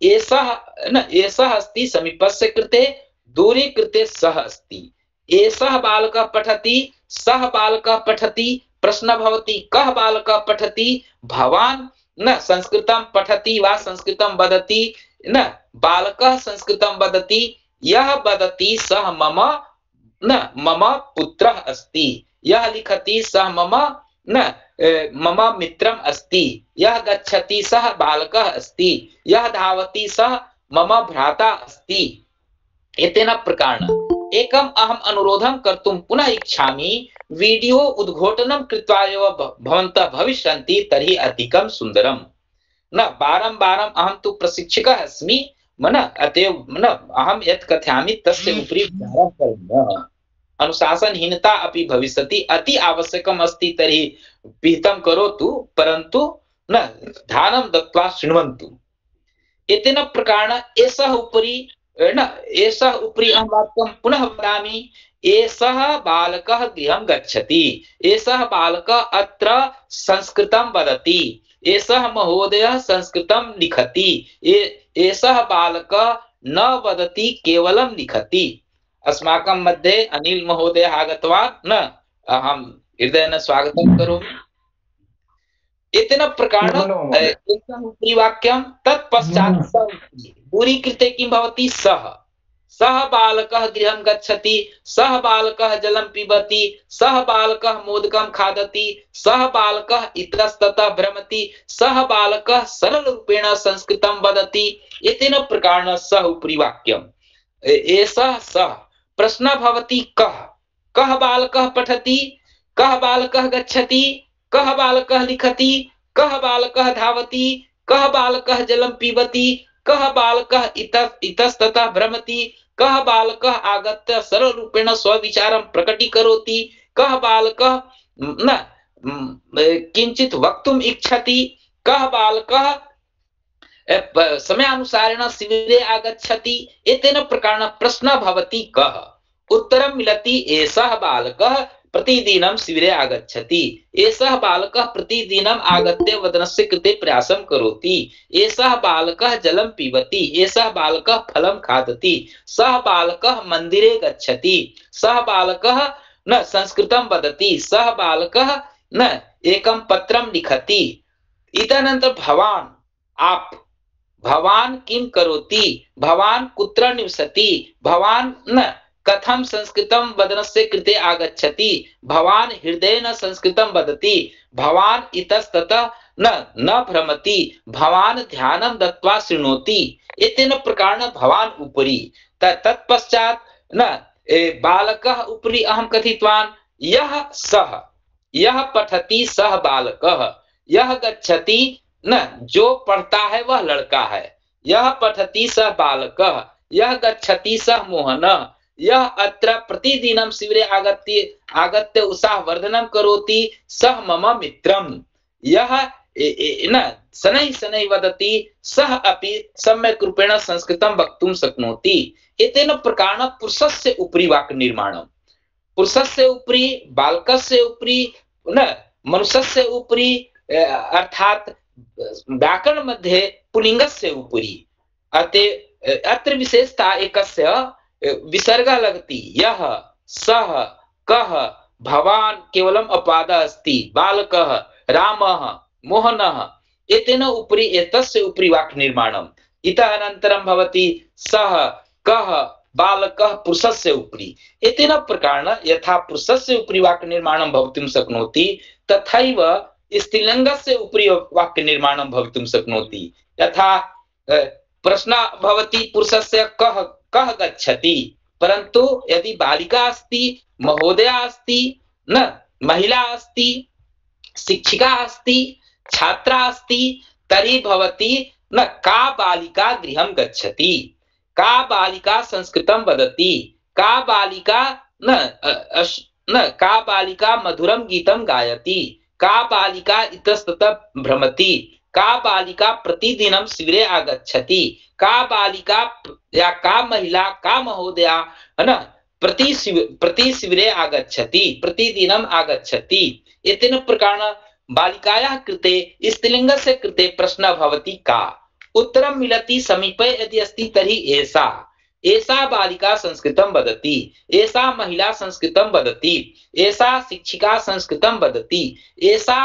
एषः न एषः अस्ति समीपस्य कृते, दूरे कृते सः अस्ति। एषः बालकः पठति, सः बालकः पठति। प्रश्न भवति कः बालकः पठति? भवान् न संस्कृतं पठति वा संस्कृतं वदति? न, बालकः संस्कृतं वदति। यः वदति सः मम न मम पुत्रः अस्ति। यः लिखति सः मम न मम मित्रम् अस्ति। यः गच्छति सः बालकः अस्ति। यः धावति सः मम भ्राता अस्ति। एतेन प्रकारेण एकम् अहम् अनुरोधं कर्तुं पुनः इच्छामि। वीडियो उद्घोटनं कृत्वा एव भवन्तः भविष्यन्ति तर्हि अधिकं सुन्दरं। न बारं बारम् अहं तु प्रशिक्षकः अस्मि, मन अतएव न अहं यत् कथयामि तस्य उपरि विचारः करणीयः। अनुशासनहीनता अपि भविष्यति। अति आवश्यकम् अस्ति तर्हि पिहितं करोतु, परन्तु न ध्यानं दत्त्वा शृण्वन्तु। एतेन प्रकारेण एषः उपरि न एषः उपरि अहं वाक्यं पुनः वदामि। एषः बालकः गृहं गच्छति। एषः बालकः अत्र संस्कृतं वदति। एषः महोदयः संस्कृतं लिखति। एषः बालकः न वदति, केवलं लिखति। अस्माकं मध्ये अनिल महोदय आगतवान्, न अहं हृदयेन स्वागतं करोमि। एतेन प्रकारेण एषः उपरि वाक्यं। तत्पश्चात् दूरी कृते किं भवति? सः सः बालकः गृहं गच्छति। सः बालकः जलं पिबति। सः बालकः मोदकं खादति। सः बालकः इतस्ततः भ्रमति। सः बालकः सरलरूपेण संस्कृतं वदति। एतेन प्रकारेण सः उपरि वाक्यम्। एषः सः। प्रश्नः भवति कः? कः बालकः पठति? कः बालकः गच्छति? कः बालकः लिखति? कः बालकः धावति? कः बालकः जलं पिबति? कः बालकः इतस्ततः भ्रमति? कः बालकः आगत्य सरलरूपेण स्वविचारं प्रकटीकरोति? कः बालकः न किंचित वक्तुम इच्छति कः बालकः समयानुसारेण शिबिरे आगच्छति एतेन प्रकारेण प्रश्नः भवति कः उत्तरं मिलति एषः बालकः प्रतिदिनं शिबिरे आगच्छति एषः बालकः प्रतिदिनं आगत्य वदनस्य कृते प्रयासं करोति एषः बालकः जलं पिबति एषः बालकः फलं खादति सः बालकः मन्दिरे गच्छति सः बालकः न संस्कृतं वदति सः बालकः न एकं पत्रं लिखति इतनन्तर भवान् आप भवान् किं करोति भवान् कुत्र निवसति भवान् न कथं संस्कृतं वदनस्य कृते आगच्छति भवान् हृदयेन संस्कृतं वदति भवान् इतस्ततः न न भ्रमति भवान् ध्यानं दत्वा शृणोति एतेन प्रकारेण भवान् उपरि तत्पश्चात् न बालकः उपरि अहं कथितवान् यः सः यह पठति सह बालकः यह गच्छति न जो पढ़ता है वह लड़का है यह पठति सह बालकः यह गच्छति सह मोहनः यह अत्र प्रतिदिनं शिबिरे आगत्य आगत्य उत्साहवर्धनं करोति सह मम मित्रम् यह न शनैः शनैः वदति सः अपि सम्यक् रूपेण संस्कृतं वक्तुं शक्नोति एतेन प्रकारेण पुरुषस्य उपरि वाक्निर्माणं पुरुषस्य उपरि बालकस्य उपरि न मनुष्यस्य उपरि अर्थात व्याकरण मध्ये पुल्लिंगस्य उपरि अते अत्र विशेषता एकस्य विसर्गः लगति यः सः कः भवान् केवलम् अपवादः अस्ति बालकः रामः मोहनः एतेन उपरि एतस्य उपरि वाक्निर्माणम् इतः अनन्तरं भवति सः कः बालकः पुरुषस्य उपरि एतेन प्रकारेण यथा पुरुषस्य उपरि वाक्निर्माणं भवितुं शक्नोति तथैव स्त्रीलिङ्गस्य उपरि वाक्निर्माणं भवितुं शक्नोति यथा प्रश्नः भवति पुरुषस्य कः कः गच्छति परन्तु यदि बालिका अस्ति महोदया अस्ति न महिला अस्ति शिक्षिका अस्ति छात्रा अस्ति तर्हि भवति न का बालिका गृहं गच्छति का बालिका संस्कृतं वदति का बालिका न अश, न का बालिका मधुरं गीतं गायति का बालिका इतस्ततः भ्रमति का बालिका प्रतिदिनं शिबिरे आगच्छति का बालिका या का महिला का महोदया है न प्रति प्रति शिबिरे आगच्छति प्रतिदिनम् आगच्छति एतेन प्रकारेण बालिकायाः कृते स्त्रीलिङ्गस्य कृते प्रश्नः भवति का उत्तरं मिलति समीपे यदि अस्ति तर्हि एषा एषा बालिका संस्कृतं वदति एषा महिला संस्कृतं वदति एषा शिक्षिका संस्कृतं वदति एषा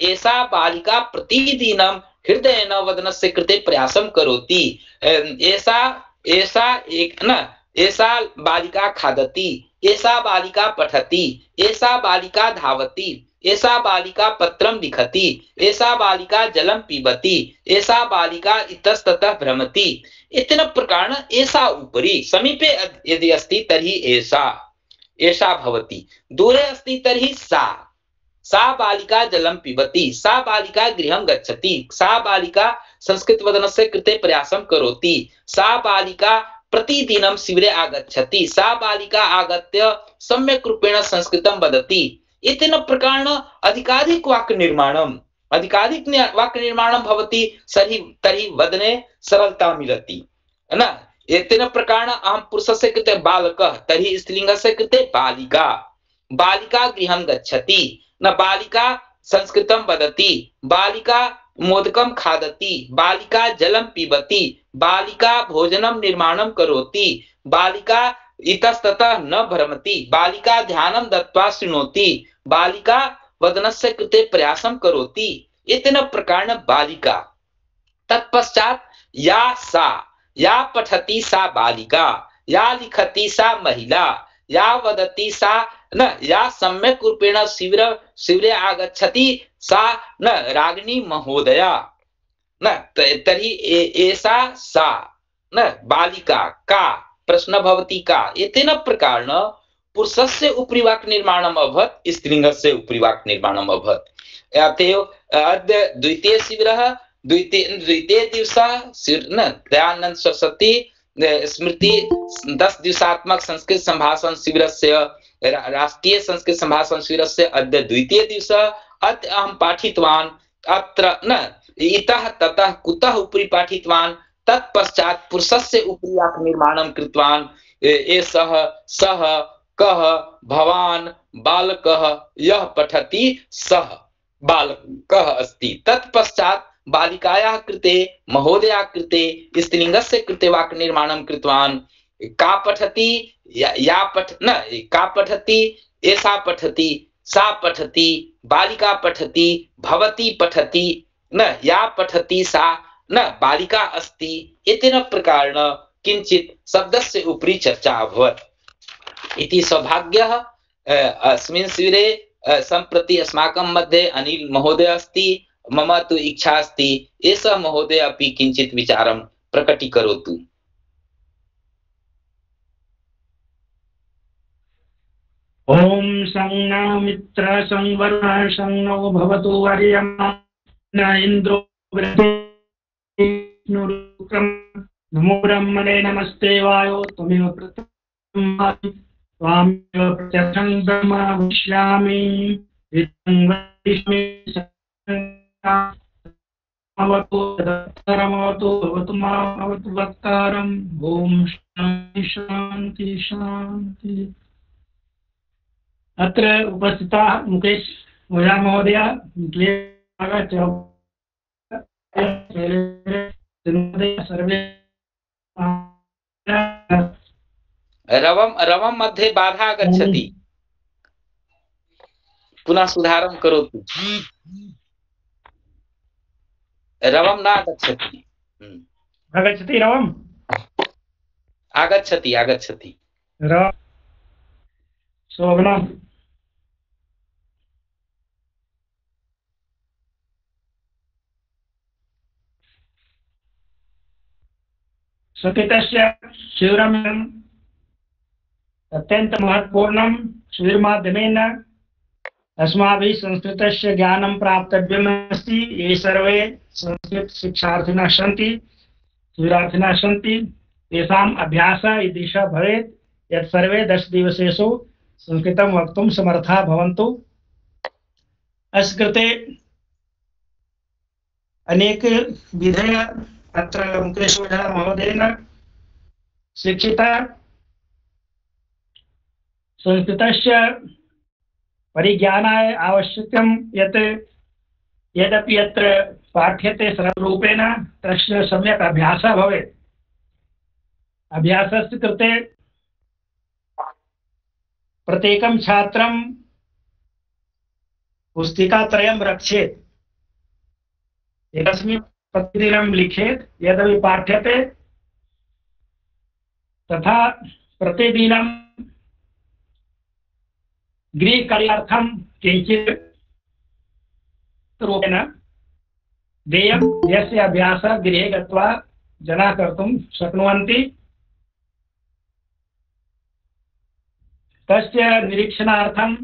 एषा बालिका प्रतिदिनं हृदयेन वदनस्य कृते प्रयासं करोति एषा एषा एक न एषा बालिका खादति एषा बालिका पठति एषा बालिका धावति एषा बालिका पत्रं लिखति एषा बालिका जलं पिबति एषा बालिका इतस्ततः भ्रमति इत्येन प्रकारेण एषा उपरि समीपे यदि अस्ति तर्हि एषा एषा भवति दूरे अस्ति तर्हि सा सा बालिका जलं पिबति सा बालिका गृहं गच्छति सा बालिका संस्कृतवदनस्य कृते प्रयासं करोति सा बालिका प्रतिदिनं शिबिरे आगच्छति सा बालिका आगत्य सम्यक् रूपेण संस्कृतं वदति एतेन प्रकारेण अधिकाधिक वाक्यनिर्माणम् अधिकाधिक वाक्यनिर्माणं भवति तर्हि तर्हि वदने सरलता मिलति न एतेन प्रकारेण अहं पुरुषस्य कृते बालकः तर्हि स्त्रीलिङ्गस्य कृते बालिका बालिका गृहं गच्छति न बालिका संस्कृतं वदति बालिका मोदकं खादति बालिका जलं पिबति बालिका भोजनं निर्माणं करोति बालिका इतस्ततः न भ्रमति बालिका ध्यानं दत्वा शृणोति बालिका वदनस्य कृते प्रयासं करोति एतेन प्रकारेण बालिका तत्पश्चात् या सा या पठति सा बालिका या लिखति सा महिला या वदति सा न या सम्यक् रूपेण शिबिर शिबिरे आगच्छति सा न रागिणी महोदया न तर्हि एषा सा न बालिका का प्रश्न भवति का एतेन प्रकारेण पुरुषस्य उपरि वाक्निर्माणम् अभवत् स्त्रीलिङ्गस्य उपरि वाक्निर्माणम् अभवत् अतएव अद्य द्वितीय शिबिरः द्वितीय द्वितीय दिवसः न दयानन्द सरस्वती स्मृति दस दिवसात्मक संस्कृत संभाषण शिबिरस्य राष्ट्रीय संस्कृत संभाषण शिविरस्य अद्य द्वितीय दिवसः। अद्य अहं पाठितवान् अत्र न इतः ततः कुतः उपरि पाठितवान्, तत्पश्चात् पुरुषस्य उपरि वाक्निर्माणं कृतवान्। एषः सः कः भवान् बालकः यः पठति सः बालकः अस्ति। तत्पश्चात् बालिकायाः कृते महोदया कृते स्त्रीलिङ्गस्य कृते वाक्निर्माणं कृतवान्। का पठति या, या पठ न का पठति एषा पठति सा पठति बालिका पठति भवती पठति न या पठति सा न बालिका अस्ति। एतेन प्रकारेण किञ्चित् शब्दस्य उपरि चर्चा अभवत् इति सौभाग्यः। अस्मिन् शिबिरे सम्प्रति अस्माकं मध्ये अनिल महोदय अस्ति। मम तु इच्छा अस्ति एषः महोदय अपि किञ्चित् विचारं प्रकटीकरोतु। ओम संज्ञा मित्र संवरुण संनो भवतु वर्यमा न इन्द्रो वृद्धिनुरुक्रम नमो ब्रह्मणे नमस्ते वायो त्वमेव प्रथमं त्वामेव प्रत्यक्षं ब्रह्म वक्ष्यामि इदं वदिष्यामि अवतु तदर्थरमवतु भवतु मामवतु वक्तारम्। ओम शांति शांति शांति। अत्र उपस्थिताः मुकेश ओझा महोदय सर्वे रवं रवं मध्ये बाधा आगच्छति, पुनः सुधारं करोतु। रवं न आगच्छति। आगच्छति रवम् आगच्छति आगच्छति रव शोभनम् संस्कृतस्य शिबिरम् अत्यन्त महत्वपूर्णं शिबिरमाध्यमेन अस्माभिः संस्कृतस्य ज्ञानं प्राप्तव्यमस्ति। ये सर्वे संस्कृत शिक्षार्थिनः सन्ति शिबिरार्थिनः सन्ति तेषाम् अभ्यासः ईदृशः भवेत् यत् सर्वे दश दिवसेषु संस्कृतं वक्तुं समर्थाः भवन्तु। अस्य कृते अनेक विधय अत्र मुकेश ओझा महोदयेन शिक्षिता। संस्कृतस्य परिज्ञानाय आवश्यकं यत् यदपि यत्र पाठ्यते सरलरूपेण तस्य सम्यक् अभ्यासः भवेत्। अभ्यासस्य कृते प्रत्येकं छात्रं पुस्तिकात्रयं रक्षेत्, एकस्मिन् प्रतिदिनं लिखेत् यदपि पाठ्यते, तथा प्रतिदिनं गृहकार्यार्थं किञ्चित् रूपेण देयं, यस्य अभ्यासः गृहे गत्वा जनाः कर्तुं शक्नुवन्ति। तस्य निरीक्षणार्थम्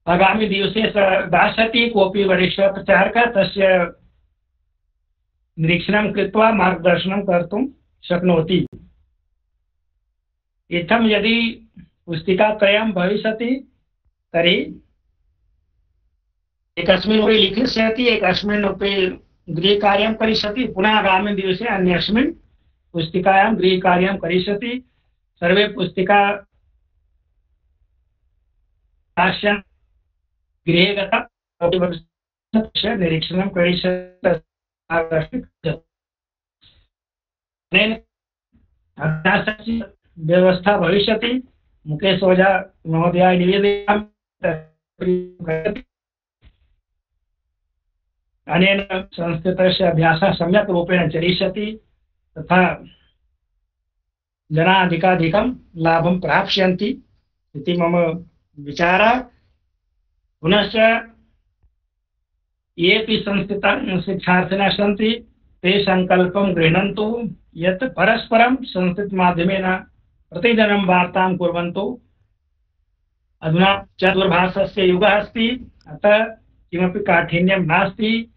आगामी दिवसे दास्यति कोऽपि वरिष्ठः प्रचारकः, तस्य निरीक्षणं कृत्वा मार्गदर्शनं कर्तुं शक्नोति। इत्थं यदि पुस्तिकात्रयं भविष्यति तर्हि एकस्मिन् उपरि लिखिष्यति, एकस्मिन् उपरि गृहकार्यं करिष्यति, पुनः आगामी दिवसे अन्यस्मिन् पुस्तिकायां गृहकार्यं करिष्यति। सर्वे पुस्तिका दास्यन् गृहे गत्वा निरीक्षणं करिष्यति। अभ्यासस्य व्यवस्था भविष्यति। मुकेश ओझा महोदयाय निवेदयामि अनेन संस्कृतस्य अभ्यासः सम्यक् रूपेण चलिष्यति, तथा जनाः अधिकाधिकं लाभं प्राप्स्यन्ति इति मम विचारः। पुनश्च येऽपि संस्कृत शिक्षार्थिनः सन्ति ते सङ्कल्पं गृह्णन्तु यत् परस्परं संस्कृतमाध्यमेन प्रतिदिनं वार्तां कुर्वन्तु। अधुना चतुर्भाषस्य युगः अस्ति, अतः किमपि काठिन्यं नास्ति।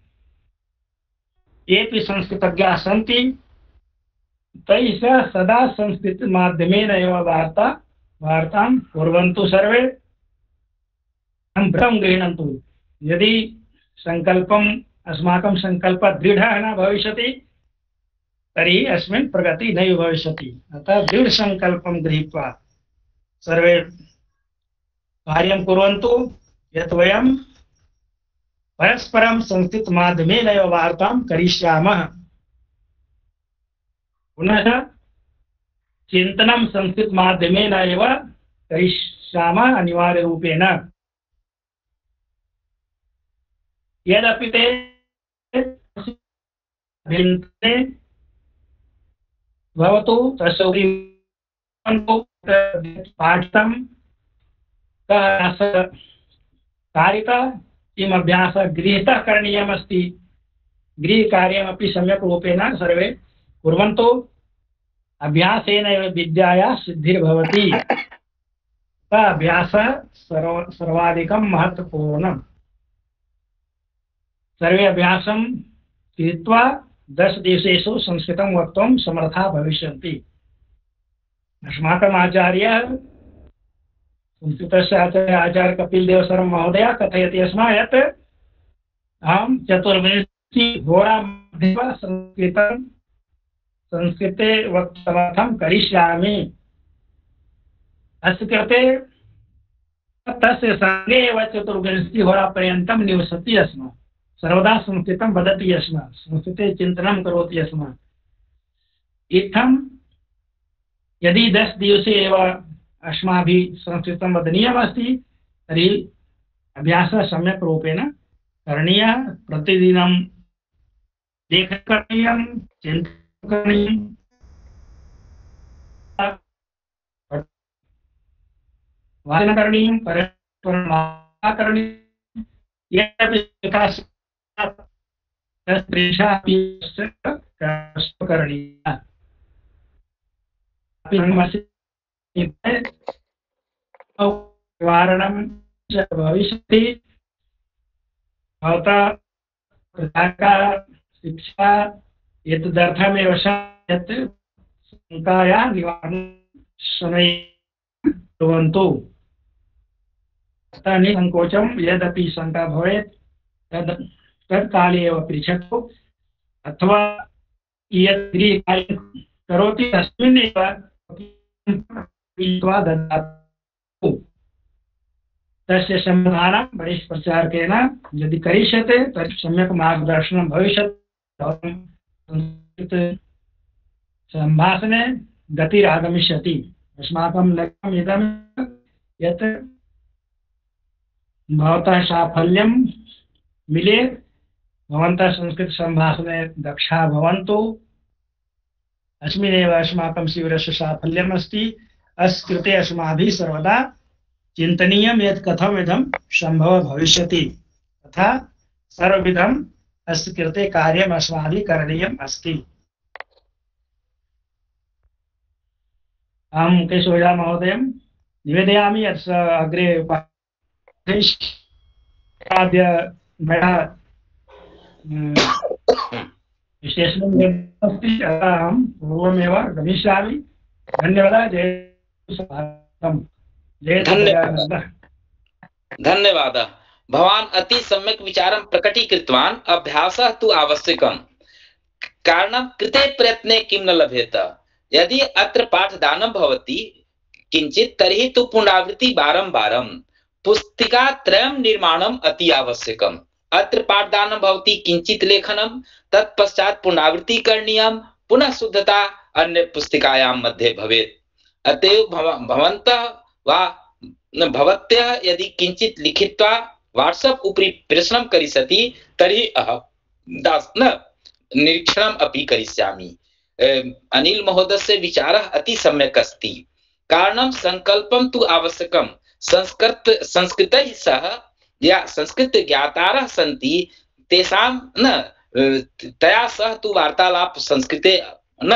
येऽपि संस्कृतज्ञाः सन्ति तैः सदा संस्कृतमाध्यमेन एव वार्ता वार्तां कुर्वन्तु सर्वे व्रतं गृह्णन्तु। यदि संकल्पम् अस्माकं सङ्कल्पः दृढः न भविष्यति तर्हि अस्मिन् प्रगतिः नैव भविष्यति। अतः दृढसङ्कल्पं गृहीत्वा सर्वे कार्यं कुर्वन्तु। यत् वयं परस्परं संस्कृतमाध्यमेन एव वार्तां करिष्यामः। पुनः चिन्तनं संस्कृतमाध्यमेन एव करिष्यामः अनिवार्यरूपेण। यदपि ते भिन्ने भवतु तस्य उपरि पाठितं कारितः किम् अभ्यासः गृहीतः करणीयमस्ति। गृहकार्यमपि सम्यक् रूपेण सर्वे कुर्वन्तु। अभ्यासेन एव विद्यायाः सिद्धिर्भवति। सः अभ्यासः सर्व सर्वाधिकं महत्वपूर्णम्। सर्वे अभ्यासं कृत्वा दश दिवसेषु संस्कृतं वक्तुं समर्थाः भविष्यन्ति। अस्माकम् आचार्यः संस्कृतस्य आचार्य आचार्य कपिलदेव शर्मा महोदय कथयति अस्मान् यत् अहं चतुर्विंशतिहोरामध्ये संस्कृतं संस्कृते वक्तुं करिष्यामि। अस्य कृते तस्य सङ्गे एव चतुर्विंशतिहोरापर्यन्तं निवसति स्म। सर्वदा संस्कृतं वदति स्म, संस्कृते चिन्तनं करोति स्म। इत्थं यदि दश दिवसे एव अस्माभिः संस्कृतं वदनीयमस्ति तर्हि अभ्यासः सम्यक् रूपेण करणीयः। प्रतिदिनं लेखनं करणीयं, चिन्तनं करणीयं, वाचनं करणीयं, परस्परं करणीयं। यदपि करणीयः निवारणं च भविष्यति। भवता शिक्षा एतदर्थमेव यत् शङ्कायाः निवारणं शनैः कुर्वन्तु। अतः निसङ्कोचं यदपि शङ्का भवेत् तद् तत्काले एव पृच्छतु, अथवा यत् गृहकार्यं करोति तस्मिन्नेव ददातु। तस्य समाधानं वरिष्ठप्रचारकेन यदि करिष्यते तर्हि सम्यक् मार्गदर्शनं भविष्यति। संभाषणे गतिरागमिष्यति। अस्माकं लक्ष्यम् इदं यत् भवतः साफल्यं मिलेत्, भवन्तः संस्कृतसम्भाषणे दक्षाः भवन्तु। अस्मिन्नेव अस्माकं शिबिरस्य साफल्यम् अस्ति। अस्य कृते अस्माभिः सर्वदा चिन्तनीयं यत् कथम् इदं सम्भवः भविष्यति, तथा सर्वविधम् अस्य कृते कार्यम् अस्माभिः करणीयम् अस्ति। अहं केशवराज महोदयं निवेदयामि यत् अग्रे आद्य मया विशेषणं अस्ति, अतः अहं पूर्वमेव गमिष्यामि। धन्यवादः। जय स्वागतम्। जय सच्चिदानन्दः। धन्यवादः। भवान् अति सम्यक् विचारं प्रकटीकृतवान्। अभ्यासः तु आवश्यकम्। कारणं कृते प्रयत्ने किं न लभ्येत। यदि अत्र पाठदानं भवति किञ्चित् तर्हि तु पुनरावृत्ति वारं वारं पुस्तिकात्रयं निर्माणम् अति आवश्यकम्। अत्र पाठदानं भवति किञ्चित् लेखनं, तत्पश्चात् पुनरावृत्ति करणीयं, पुनः शुद्धता अन्य पुस्तिकायां मध्ये भवेत्। अतएव भवन्तः वा भवत्यः यदि किञ्चित् लिखित्वा वाट्सप् उपरि प्रश्नं करिष्यति तर्हि अहं न निरीक्षणम् अपि करिष्यामि। अनिल महोदयस्य विचारः अति सम्यक् अस्ति। कारणं संकल्पं तु आवश्यकं। संस्कृत संस्कृतैः सह या संस्कृत ज्ञातारः सन्ति तेषां न तया सह तु वार्तालाप संस्कृते न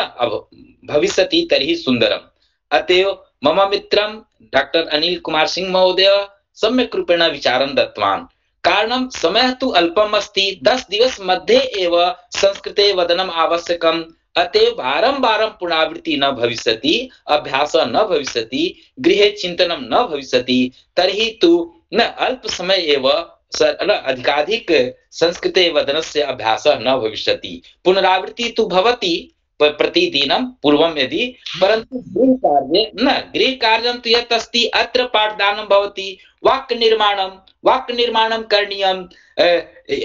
भविष्यति तर्हि सुन्दरम्। अतएव मम मित्रं डॉक्टर अनिल कुमार सिंह महोदय सम्यक् रूपेण विचारं दत्तवान्। कारणं समयः तु अल्पम् अस्ति। दश दिवस मध्ये एव संस्कृते वदनम् आवश्यकम्। अतएव बारंबारं पुनरावृत्ति न भविष्यति, अभ्यास न भविष्यति, गृहे चिंतनं न भविष्यति, तर्हि तु न अल्प समय एव अधिकाधिक संस्कृते वदनस्य अभ्यासः न भविष्यति। पुनरावृत्ति तु भवति प्रतिदिनं पूर्वं यदि, परन्तु गृहकार्ये न। गृहकार्यं तु यत् अस्ति, अत्र पाठदानं भवति, वाक्यनिर्माणं वाक्यनिर्माणं करणीयम्।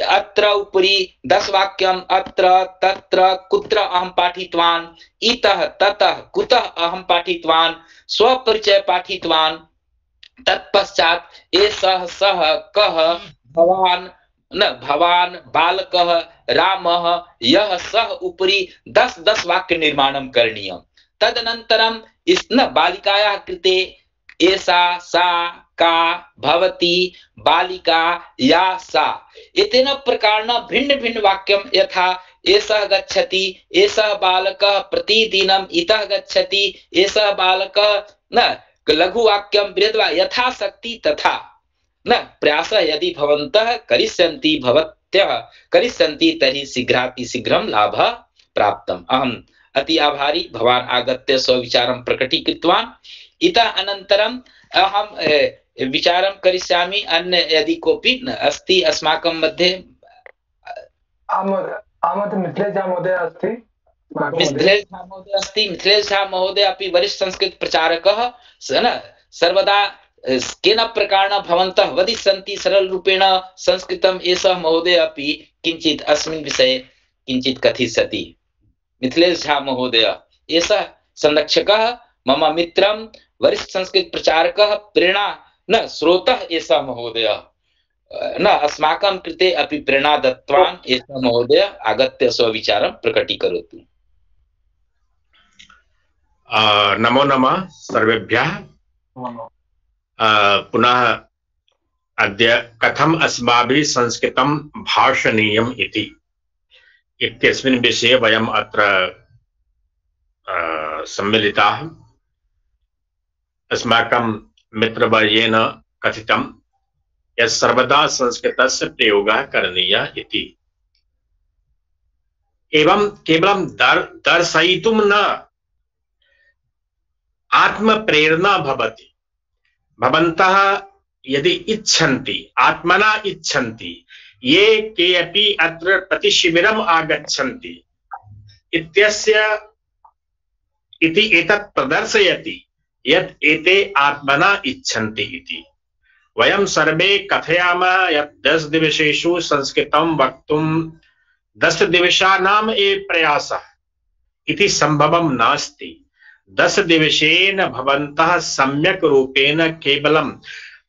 अत्र उपरि दश वाक्यम्, अत्र तत्र कुत्र अहं पाठितवान्, इतः ततः कुतः अहं पाठितवान्, स्वपरिचय पाठितवान्, तत्पश्चात् एषः सः कः, भवान् न भवान्, बालकः, रामः, यः सः उपरि दश दश वाक्य निर्माणं करणीयम्। तदनन्तरं इस न बालिकायाः कृते एषा, सा, का, भवती, बालिका, या, सा, एतेन प्रकारेण भिन्न भिन्न वाक्यं, यथा एषः गच्छति, एषः बालकः प्रतिदिनं इतः गच्छति, एषः बालकः, न लघुवाक्यं बृहद्वा यथाशक्ति तथा न प्रयासः यदि भवन्तः करिष्यन्ति, भवत्यः करिष्यन्ति, तर्हि शीघ्रातिशीघ्रं लाभः प्राप्तम्। अहम् अति आभारी, भवान् आगत्य स्वविचारं प्रकटीकृतवान्। इतः अनन्तरम् अहं विचारं करिष्यामि। अन्य यदि कोऽपि अस्ति अस्माकं मध्ये। मिथिलेश झा महोदय अस्ति। मिथिलेश झा महोदय अस्ति। मिथिलेश झा महोदय अपि वरिष्ठ संस्कृत प्रचारकः न। सर्वदा केन प्रकारेण भवन्तः वदिष्यन्ति सरलरूपेण संस्कृतम्, एषः महोदय अपि किञ्चित् अस्मिन् विषये किञ्चित् कथिष्यति। मिथिलेश झा महोदय एषः संरक्षकः, मम मित्रं, वरिष्ठ संस्कृत प्रचारकः, प्रेरणा न स्रोतः एषः महोदय न। अस्माकं कृते अपि प्रेरणा दत्तवान् एषः महोदय। आगत्य स्वविचारं प्रकटीकरोतु। नमो नमः सर्वेभ्यः। पुनः अद्य कथम अस्माभिः संस्कृतं भाषणीयम् इति इत्यस्मिन् विषये वयम् अत्र सम्मिलिताः। अस्माकं मित्रवर्येण कथितं यत् सर्वदा संस्कृतस्य प्रयोगः करणीयः इति। एवं केवलं दर् दर्शयितुं न, आत्मप्रेरणा भवति। भवन्तः यदि इच्छन्ति, आत्मना इच्छन्ति, ये के अपि अत्र प्रतिशिबिरम् आगच्छन्ति इत्यस्य इति एतत् प्रदर्शयति यत् एते आत्मना इच्छन्ति इति। वयं सर्वे कथयामः यत् दश दिवसेषु संस्कृतं वक्तुं दश दिवसानाम् एव प्रयासः इति संभवं नास्ति। दश दिवसेन भवन्तः सम्यक् रूपेण केवलम्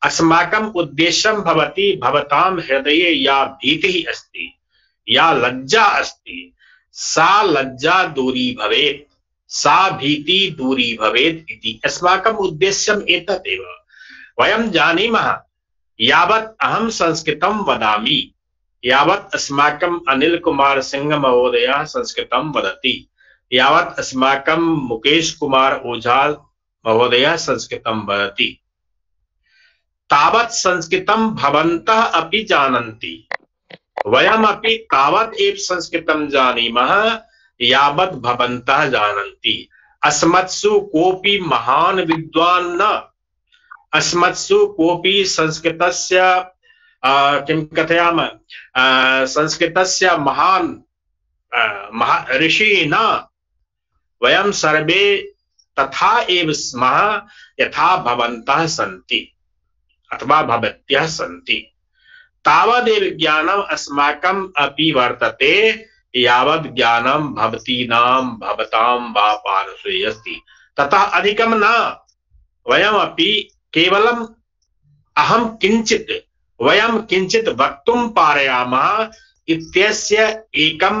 अस्माकम् उद्देश्यं भवति, भवतां हृदये या भीतिः अस्ति, या लज्जा अस्ति, सा लज्जा दूरी भवेत्, सा भीति दूरी भवेत् इति अस्माकम् उद्देश्यम् एतदेव। वयं जानीमः यावत् अहं संस्कृतं वदामि, यावत् अस्माकम् अनिल कुमार सिंह महोदयः संस्कृतं वदति, यावत् अस्माकं मुकेश कुमार ओझा महोदयः संस्कृतं वदति, तावत् संस्कृतं भवन्तः अपि जानन्ति। वयमपि तावत् एव संस्कृतं जानीमः यावत् भवन्तः जानन्ति। अस्मत्सु कोऽपि महान् विद्वान् न, अस्मत्सु कोऽपि संस्कृतस्य किं कथयामः संस्कृतस्य महान् महा ऋषिः न। वयं सर्वे तथा एव स्मः यथा भवन्तः सन्ति अथवा भवत्यः सन्ति। तावदेव ज्ञानम् अस्माकम् अपि वर्तते यावत् ज्ञानं भवतीनां भवतां वा पार्श्वे अस्ति, ततः अधिकं न। वयमपि केवलम् अहं किञ्चित् वयं किञ्चित् वक्तुं पारयामः इत्यस्य एकं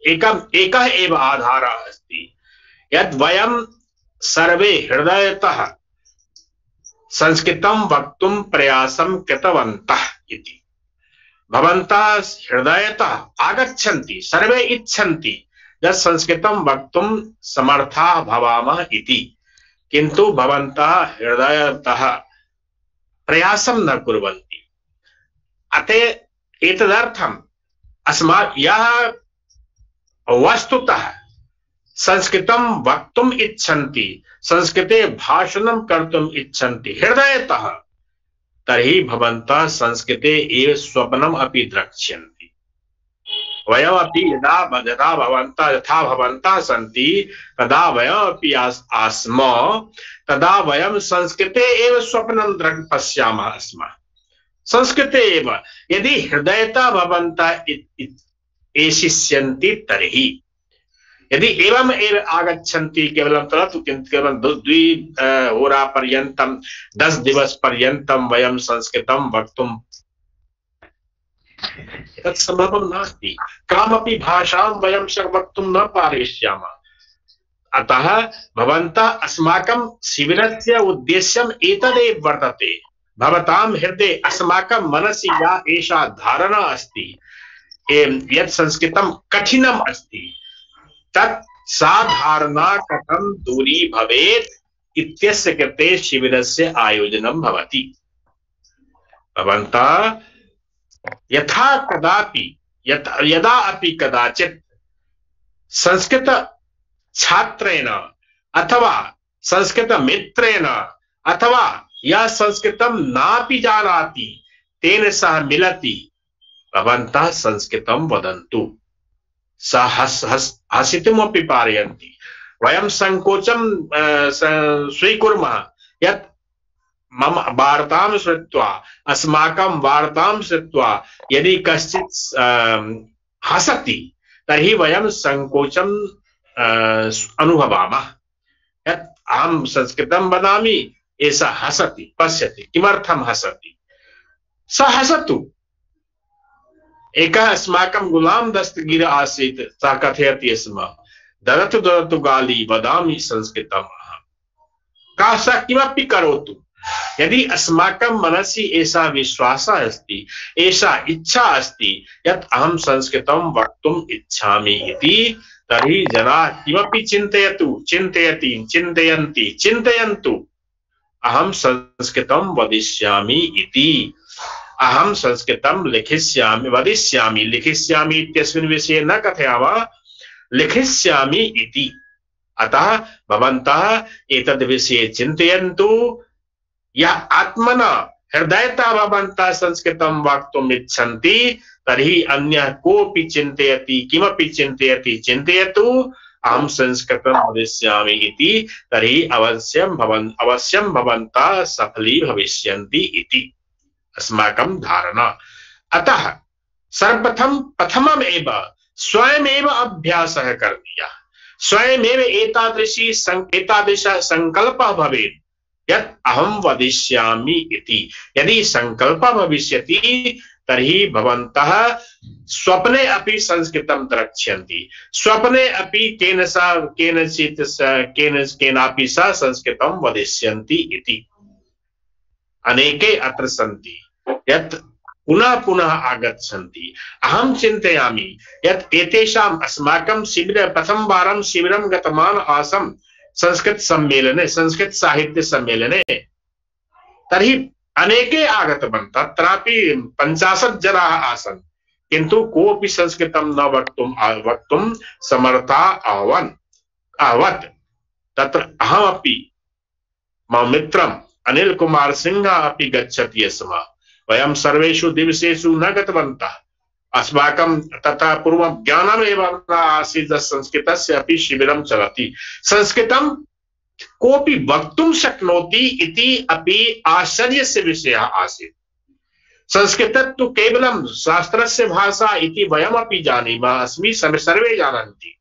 एकम् एकः एव आधारः अस्ति यत् वयं सर्वे हृदयतः संस्कृतं वक्तुं प्रयासं कृतवन्तः इति। भवन्तः हृदयतः आगच्छन्ति, सर्वे इच्छन्ति यत् संस्कृतं वक्तुं समर्थाः भवामः इति, किन्तु भवन्तः हृदयतः प्रयासं न कुर्वन्ति। अतः एतदर्थम् अस्मा यः वस्तुतः संस्कृतं वक्तुम् इच्छन्ति, संस्कृते भाषणं कर्तुम् इच्छन्ति हृदयतः, तर्हि भवन्तः संस्कृते एव स्वप्नम् अपि द्रक्ष्यन्ति। वयमपि यदा यदा भवन्तः यथा भवन्तः सन्ति तदा वयमपि आस्म, तदा वयं संस्कृते एव स्वप्नं द्रक् पश्यामः स्म, संस्कृते एव। यदि हृदयतः भवन्तः एषिष्यन्ति तर्हि, यदि एवं एव आगच्छन्ति केवलं तदतु केवलं द्वि होरा पर्यन्तं दस दिवस पर्यन्तं वयं संस्कृतं वक्तुं तत् संभवं नास्ति। कामपि भाषां वयं वक्तुं न पारयिष्यामः। अतः भवन्तः अस्माकं शिबिरस्य उद्देश्यम् एतदेव वर्तते। भवतां हृदये अस्माकं मनसि या एषा धारणा अस्ति यत् संस्कृतं कठिनम् अस्ति, तत् सा धारणा कथं दूरी भवेत् इत्यस्य कृते शिबिरस्य आयोजनं भवति। भवन्तः यथा कदापि यदा अपि कदाचित् संस्कृत छात्रेण अथवा संस्कृत मित्रेण अथवा यः संस्कृतं नापि जानाति तेन सह मिलति, भवन्तः संस्कृतं वदन्तु। सः हस् हस् हसितुमपि पारयन्ति। वयं संकोचं स्वीकुर्मः यत् मम वार्तां श्रुत्वा अस्माकं वार्तां श्रुत्वा यदि कश्चित् हसति तर्हि वयं संकोचं अनुभवामः यत् अहं संस्कृतं वदामि, एषः हसति, पश्यति किमर्थं हसति, सः हसतु। एकः अस्माकं गुलाम दस्तगीर आसीत्, सः कथयति स्म, ददतु ददतु गाली वदामि संस्कृतम् अहम्। कः सः किमपि करोतु, यदि अस्माकं मनसि एषा विश्वासः अस्ति, एषा इच्छा अस्ति यत् अहं संस्कृतं वक्तुम् इच्छामि इति, तर्हि जनाः किमपि चिन्तयतु, चिन्तयति चिन्तयन्ति चिन्तयन्तु, अहं संस्कृतं वदिष्यामि इति, अहं संस्कृतं लिखिष्यामि वदिष्यामि, लिखिष्यामि इत्यस्मिन् विषये न कथयामः, लिखिष्यामि इति। अतः भवन्तः एतद् विषये चिन्तयन्तु। यः आत्मना हृदयतः भवन्तः संस्कृतं वक्तुम् इच्छन्ति तर्हि अन्यः कोऽपि चिन्तयति किमपि चिन्तयति चिन्तयतु, अहं संस्कृतं वदिष्यामि इति, तर्हि अवश्यं भवन् अवश्यं भवन्तः सफली भविष्यन्ति इति अस्माकं धारणा। अतः सर्वप्रथम प्रथमम् एव स्वयमेव अभ्यासः करणीयः, स्वयमेव एतादृशी एतादृशः संकल्पः भवेत् यत् अहं वदिष्यामि इति। यदि संकल्पः भविष्यति तर्हि भवन्तः स्वप्ने अपि संस्कृतं द्रक्ष्यन्ति, स्वप्ने अपि केन सह केनचित् केन केनापि सह संस्कृतं वदिष्यन्ति इति। अनेके अत्र सन्ति यत् पुनः पुनः आगच्छन्ति। अहं चिन्तयामि यत् एतेषाम् अस्माकं शिबिरे प्रथमवारं शिबिरं गतवान् आसम् संस्कृत सम्मेलने, संस्कृत साहित्य सम्मेलने, तर्हि अनेके आगतवन्तः, तत्रापि पञ्चाशत् जनाः आसन्, किन्तु कोऽपि संस्कृतं न वक्तुं वक्तुं समर्था अभवन् अभवत्। तत्र अहमपि मम मित्रं अनिल कुमार सिंह अपि गच्छति स्म। वयं सर्वेषु दिवसेषु न गतवन्तः, अस्माकं तथा पूर्वं ज्ञानमेव न आसीत्, संस्कृतस्य अपि शिबिरं चलति। संस्कृतं कोऽपि वक्तुं शक्नोति इति अपि आश्चर्यस्य विषयः आसीत्। संस्कृतं तु केवलं शास्त्रस्य भाषा इति वयमपि जानीमः, अस्मि सर्वे जानन्ति।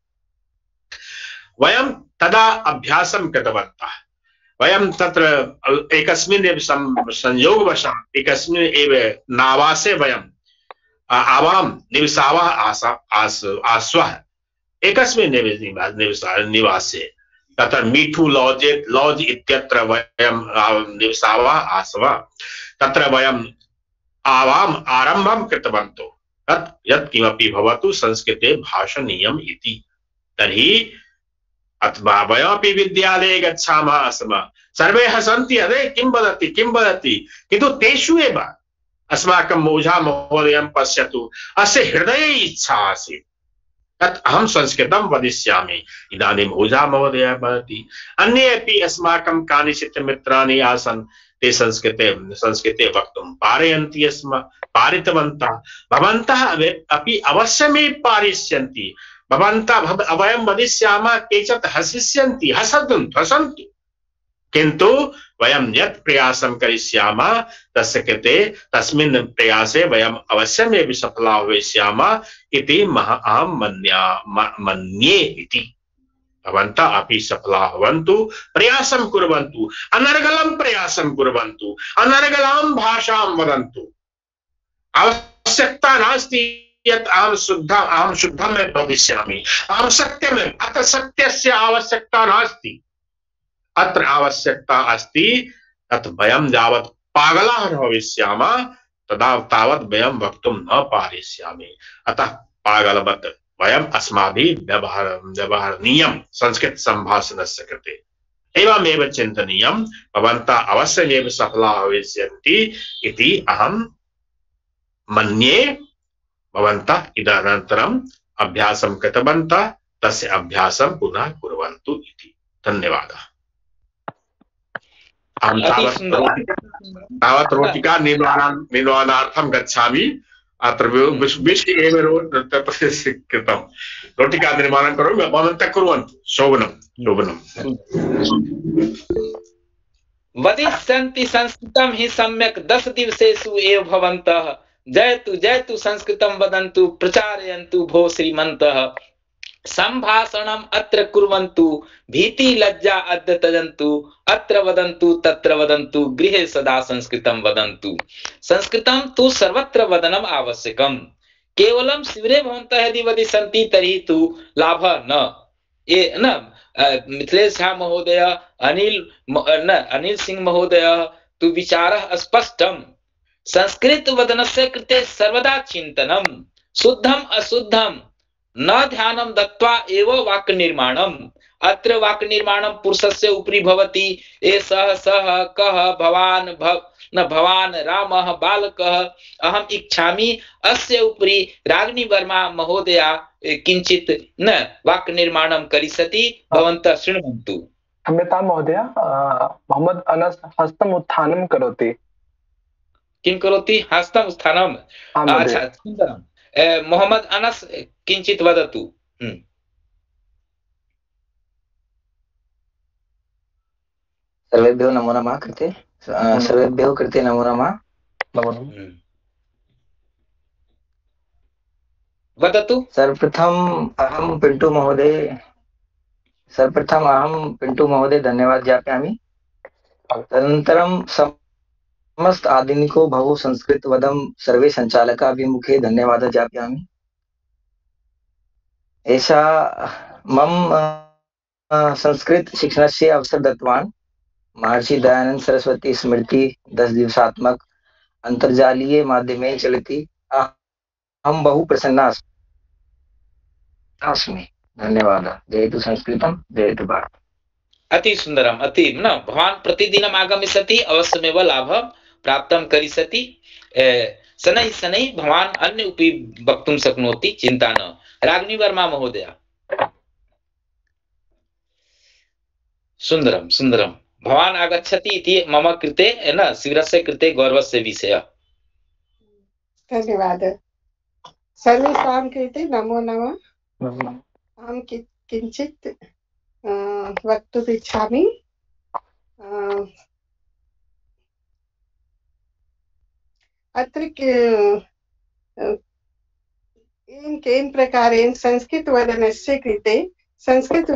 वयं तदा अभ्यासं कृतवन्तः। वयं तत्र एकस्मिन् एव संयोगवशात् एकस्मिन् एव नावासे वयं आवां निवसावः आस आस्वः एकस्मिन् एव निवासे, तत्र मीठू लॉज लॉज इत्यत्र वयं निवसावः आस्वः। तत्र वयं आवाम् आरम्भं कृतवन्तः तत् यत् किमपि भवतु संस्कृते भाषणीयम् इति। तर्हि अथवा वयमपि विद्यालये गच्छामः स्म, सर्वे हसन्ति, अरे किं वदति किं वदति, किन्तु तेषु एव अस्माकं ओझा महोदयं पश्यतु, अस्य हृदये इच्छा आसीत् तत् अहं संस्कृतं वदिष्यामि। इदानीम् ओझा महोदयः भवति, अन्ये अपि अस्माकं कानिचित् मित्राणि आसन्, ते संस्कृते संस्कृते वक्तुं पारयन्ति स्म, पारितवन्तः। भवन्तः अपि अवश्यमेव पारिष्यन्ति। भवन्तः वयं वदिष्यामः, केचित् हसिष्यन्ति, हसन्तु हसन्तु, किन्तु वयं यत् प्रयासं करिष्यामः तस्य कृते तस्मिन् प्रयासे वयम् अवश्यमेव सफलाः भविष्यामः इति अहं मन्या मन्ये इति। भवन्तः अपि सफलाः भवन्तु, प्रयासं कुर्वन्तु, अनर्गलं प्रयासं कुर्वन्तु, अनर्गलां भाषां वदन्तु। आवश्यकता नास्ति यत् अहं शुद्ध अहं शुद्धमेव भविष्यामि, अहं सत्यमेव। अतः सत्यस्य आवश्यकता नास्ति, अत्र आवश्यकता अस्ति यत् वयं यावत् पागलाः न भविष्यामः तदा तावत् वयं वक्तुं न पारिष्यामि। अतः पागलवत् वयम् अस्माभिः व्यवहार व्यवहरणीयं संस्कृत सम्भाषणस्य कृते। एवमेव चिन्तनीयं, भवन्तः अवश्यमेव सफलाः भविष्यन्ति इति अहं मन्ये। भवन्तः इदानीन्तरम् अभ्यासं कृतवन्तः, तस्य अभ्यासं पुनः कुर्वन्तु इति। धन्यवादः। अहं तावत् रोटिका निर्माणं निर्माणार्थं गच्छामि। अत्र विषये एव कृतं रोटिका निर्माणं करोमि, भवन्तः कुर्वन्तु। शोभनं शोभनं। वदिष्यन्ति संस्कृतं हि सम्यक् दश दिवसेषु एव भवन्तः। जयतु जयतु संस्कृतं वदन्तु, प्रचारयन्तु भो श्रीमन्तः। संभाषणम् अत्र कुर्वन्तु, भीति लज्जा अद्य त्यजन्तु। अत्र वदन्तु तत्र वदन्तु, गृहे सदा संस्कृतं वदन्तु। संस्कृतं तु सर्वत्र वदनम् आवश्यकम्। केवलं शिबिरे भवन्तः यदि वदिष्यन्ति तर्हि तु लाभः न। ये न मिथिलेश झा महोदय, अनिल न अनिल सिंह महोदय तु विचारः स्पष्टम्। संस्कृत वदनस्य कृते सर्वदा चिन्तनं, शुद्धम् अशुद्धं न ध्यानं दत्त्वा एव वाक् निर्माणम्। अत्र वाक् निर्माणं पुरुषस्य उपरि भवति। एषः सः कः भवान् भव न भवान् रामः बालकः अहम् इच्छामि, अस्य उपरि रागिनी वर्मा महोदया किञ्चित् न वाक् निर्माणं करिष्यति। भवन्तः शृण्वन्तु। क्षम्यतां महोदय, मोहम्मद अनस हस्तम् उत्थानं करोति। किं करोति? हस्तम् उत्थानं। अच्छा, सुन्दरम्। मोहम्मद अनस किंचित वदतु। सर्वेभ्यो नमो नमः कृते सर्वेभ्यो कृते नमो नमः। वदतु। सर्वप्रथम अहं पिंटू महोदय सर्वप्रथम अहं पिंटू महोदय धन्यवाद ज्ञापयामि। तदनन्तरं समस्त आधुनिको भवो संस्कृत वदं सर्वे संचालकाभिमुखे धन्यवादः ज्ञापयामि। एषा मम संस्कृत शिक्षणस्य अवसर दत्तवान् महर्षि दयानंद सरस्वती स्मृति दस दिवसात्मक अंतर्जालीय माध्यमे चलति। अहं बहु प्रसन्ना अस्मि। धन्यवादः। जयतु संस्कृतं, जयतु भारत। अति सुंदरम, अति न भवान् प्रतिदिनम् आगमिष्यति, अवश्यमेव लाभं प्राप्तं करिष्यति। शनैः शनैः भवान् अन्य अपि वक्तुं शक्नोति, चिन्ता न। रागिनी वर्मा महोदया। सुंदरम सुंदरम। भवान् आगच्छति इति मम कृते न शिबिरस्य कृते गौरवस्य विषयः। धन्यवादः। सर्वेषां कृते नमो नमः। अहं किञ्चित् वक्तुम् इच्छामि। अत्र केन प्रकारेण संस्कृत वदनस्य कृते संस्कृत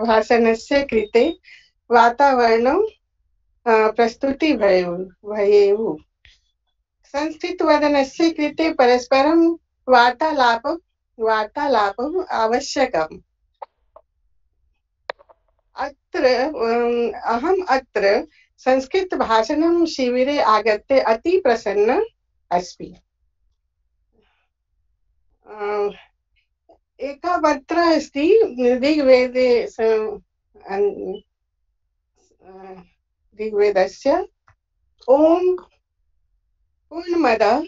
भाषणस्य कृते वातावरणं प्रस्तुति भवेयुः। संस्कृत वदनस्य कृते परस्परं वार्तालाप वार्तालापम् आवश्यकम्। अत्र अहम् अत्र संस्कृत भाषणं शिबिरे आगत्य अति प्रसन्न अस्मि। एका मंत्र अस्ति ऋग्वेदे ऋग्वेदस्य ओम पूर्णमदः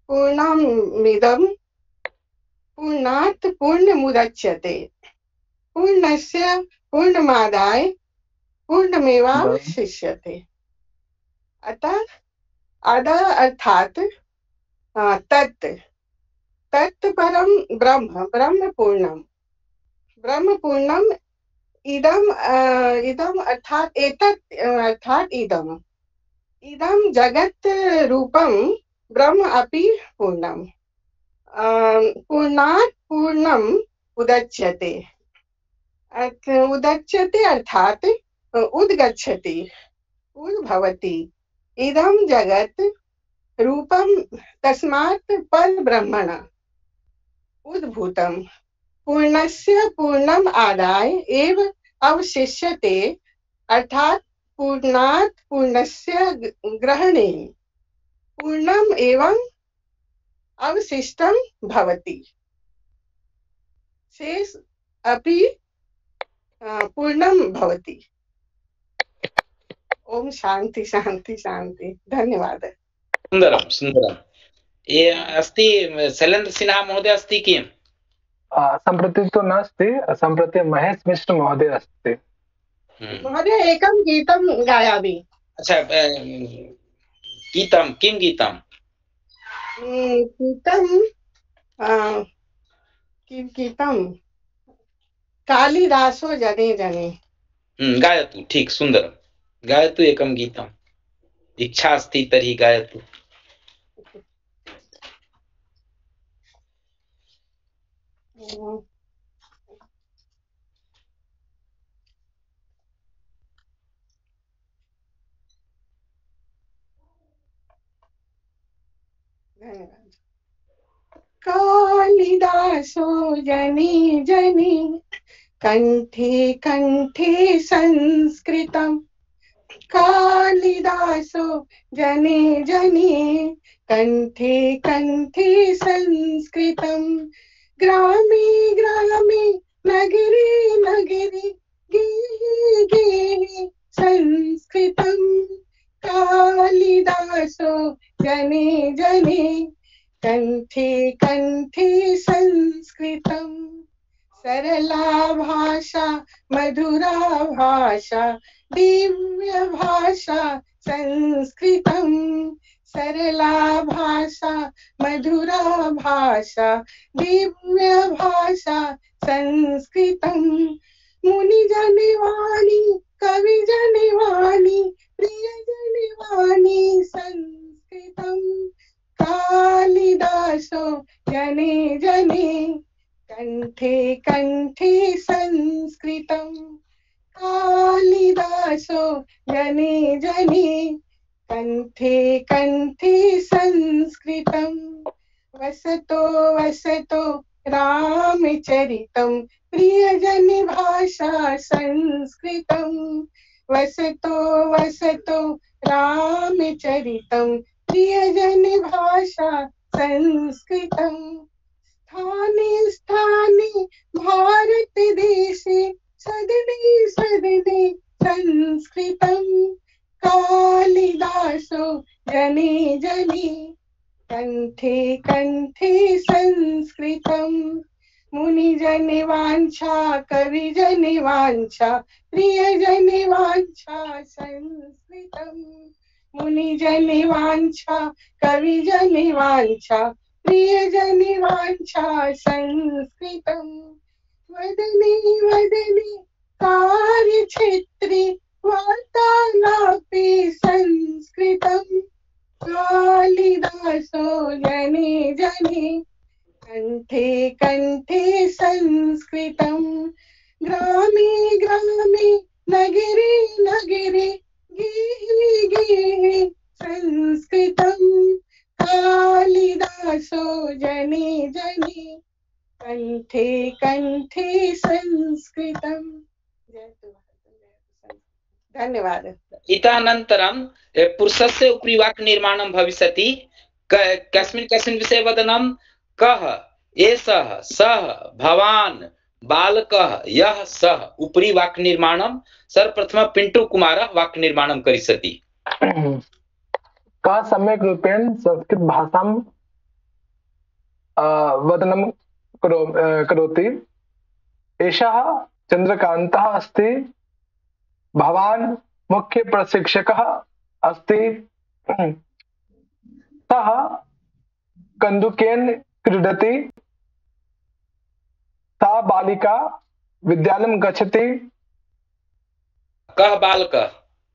पूर्णमिदं पूर्णात् पूर्णमुदच्यते पूर्णस्य पूर्णमादाय पूर्णमेवावशिष्यते। अतः अदः अर्थात अ, तत् तत् परम ब्रह्म ब्रह्म पूर्णम ब्रह्म पूर्णम इदम अ, इदम अर्थात एतत् अ, अर्थात इदम इदम जगत् रूपम ब्रह्म अपि पूर्णम अ, पूर्णात् पूर्णम उदच्यते। अर्थ- उदच्यते अर्थात उद्गच्छति उद्भवति। इदं जगत् रूपम तस्मात् परब्रह्मण उद्भूतम् पूर्णस्य पूर्णम आदाय एव अवशिष्यते अर्थात पूर्णात् पूर्णस्य ग्रहणेन पूर्णम एवं अवशिष्टम भवति। शेष अपि अ, पूर्णम भवति। ओम शांति शांति शांति। धन्यवादः। सुन्दरं सुन्दरं। ये अस्ति शैलेन्द्र सिन्हा महोदय अस्ति किम्? आ, सम्प्रति तु नास्ति, सम्प्रति महेश मिश्र महोदय अस्ति। महोदय एकं गीतं गायामि। अच्छा, अ, गीतं किं गीतं? उम्, गीतं अ, किं गीतं कालिदासो जने जने। हम्म, गायतु। ठीक, सुन्दरं। गायतु एकं गीतम्। इच्छा अस्ति तर्हि गायतु। उम्, धन्यवाद। कालिदासो जने जने कंठे कंठे संस्कृतम् कालिदासो जने जने कंठे कंठे संस्कृतम् ग्रामे ग्रामे नगरे नगरे गेहे गेहे संस्कृतम् कालिदासो जने जने कंठे कंठे संस्कृतम् सरला भाषा मधुरा भाषा दिव्य भाषा संस्कृतम् सरला भाषा मधुरा भाषा दिव्य भाषा संस्कृतम् मुनि जनिवाणी कवि जनिवाणी प्रिय जनिवाणी संस्कृतम् कालिदासो जने जने कंठे कंठे संस्कृतम् कालिदासो जने जने कंठे कंठे संस्कृतम् वसतो वसतो रामचरितम् प्रियजन भाषा संस्कृतम् वसतो वसतो रामचरितम् प्रियजन भाषा संस्कृतम् स्थाने स्थाने भारत देशे सदने सदने संस्कृतम् कालिदासो जने जने कंठे कंठे संस्कृतम् मुनि जन वांछा कवि जन वांछा प्रिय जन वांछा संस्कृतम् मुनि जन वांछा कवि जन वांछा प्रिय जन वांछा संस्कृतम् वदने वदने कार्य क्षेत्रे वार्तालापे संस्कृतम् कालिदासो जने जने कंठे कंठे संस्कृतम् ग्रामे ग्रामे नगरे नगरे गेहे गेहे संस्कृतम् कालिदासो जने जने कंठे कंठे संस्कृतम्। धन्यवाद। इतःनन्तरं पुरुषस्य उपरि वाक् निर्माणं भविष्यति। क- कस्मिन् कस्मिन् विषये वदनं? कः एषः सः भवान् बालकः यः सः उपरि वाक् निर्माणं सर्वप्रथमं पिण्टु कुमारः वाक् निर्माणं करिष्यति। कः सम्यक् रूपेण संस्कृत भाषां वदनं करो करोति? एषः चन्द्रकान्तः अस्ति। भवान् मुख्य प्रशिक्षकः अस्ति। सः कन्दुकेन क्रीडति। सा बालिका विद्यालयं गच्छति। कः बालकः?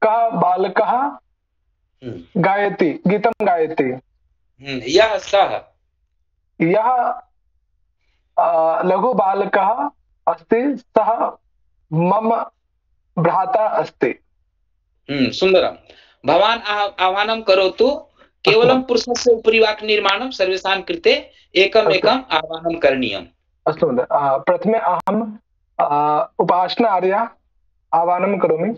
कः बालकः गायति गीतं गायति? यः सः यः लघु बालकः अस्ति सः मम भ्राता अस्ति। हम्म सुन्दरं। भवान् आह्वानं करोतु। केवलं पुरुषस्य उपरि वाक्निर्माणं सर्वेषां कृते एकम् एकम् आह्वानं करणीयम्। अस्तु महोदय। प्रथमे अहम् उपासना आर्या आह्वानं करोमि।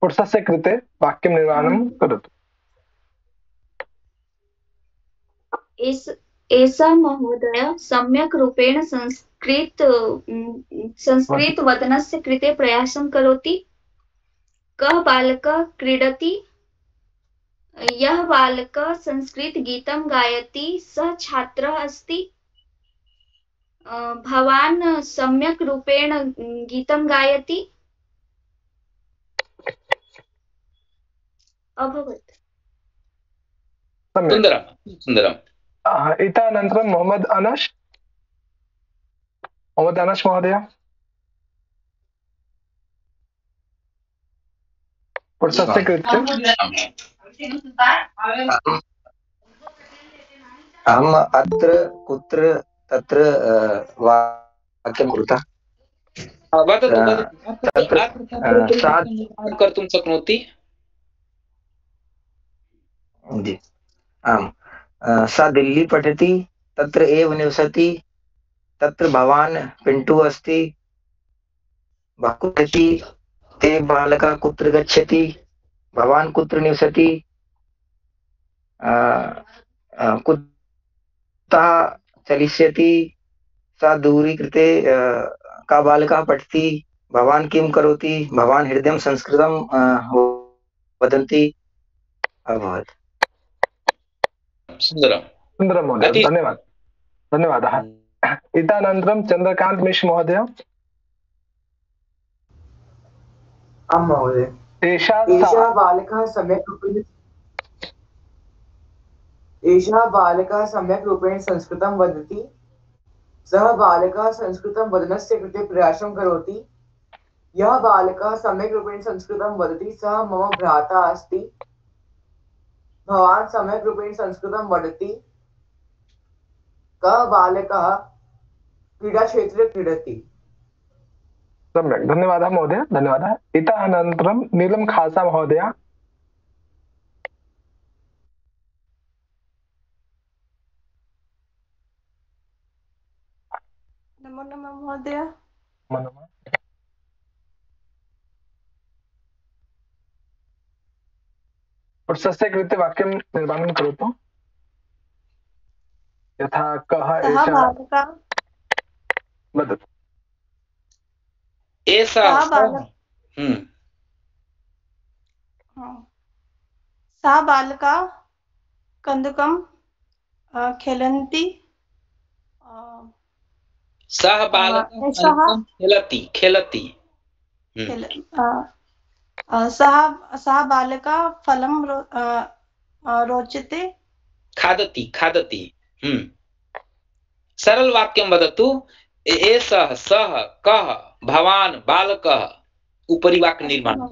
पुरुषस्य कृते वाक्यं निर्माणं करोतु। एषः महोदय सम्यक् रूपेण संस्कृत संस्कृत वदनस्य कृते प्रयासं करोति। कः बालकः क्रीडति? यः बालकः संस्कृत गीतं गायति सः छात्रः अस्ति। भवान् सम्यक् रूपेण गीतं गायति। अभवत्। सुन्दरं सुन्दरम्। इतः अनन्तरं मोहम्मद अनस मोहम्मद अनस महोदय पुरुषस्य कृते। अहम् अत्र कुत्र तत्र वाक्यं कुरुतः वदतु वदतु कर्तुं शक्नोति। जी आम्। सा दिल्ली पठति। तत्र एव निवसति। तत्र भवान् पिण्टु अस्ति। कुत्रति? ते बालकः कुत्र गच्छति? भवान् कुत्र निवसति? कुतः चलिष्यति? सा दूरी कृते। का बालकः पठति? भवान् किं करोति? भवान् हृदयं संस्कृतं वदन्ति। अभवत्। सुन्दरं सुन्दरं महोदय। धन्यवादः धन्यवादः। इतः अनन्तरं चन्द्रकान्त मिश्र महोदय। आं महोदय। एषः बालकः सम्यक् रूपेण एषः बालकः सम्यक् रूपेण संस्कृतं वदति। सः बालकः संस्कृतं वदनस्य कृते प्रयासं करोति। यः बालकः सम्यक् रूपेण संस्कृतं वदति सः मम भ्राता अस्ति। भवान् सम्यक् रूपेण संस्कृतं वदति। कः बालकः क्रीडाक्षेत्रे क्रीडति? सम्यक्। धन्यवादः महोदय। धन्यवादः। इतः अनन्तरं नीलं खासा महोदय। नमो नमः महोदय। पुरुषस्य कृते वाक्यं निर्माणं करोतु। यथा कः एषः वदतु। एषः सा बालिका कन्दुकं खेलन्ति। सः बालकः खेलति खेलति सः सः बालकः फलं रोचते। खादति खादति। हम्म सरल वाक्यं वदतु। एषः सः कः भवान् बालकः उपरि वाक्य निर्माणं।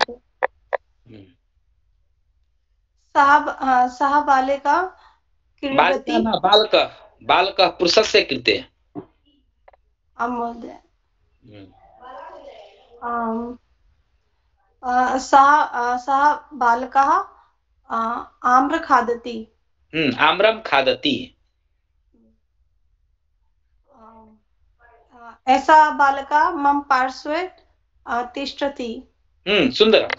सः सः बालिका क्रीडति। बालकः बालकः पुरुषस्य कृते। आं महोदय। सः सः बालकः आम्र खादति। हम्म आम्रं खादति। एषा बालिका मम पार्श्वे तिष्ठति। हम्म सुन्दरम्।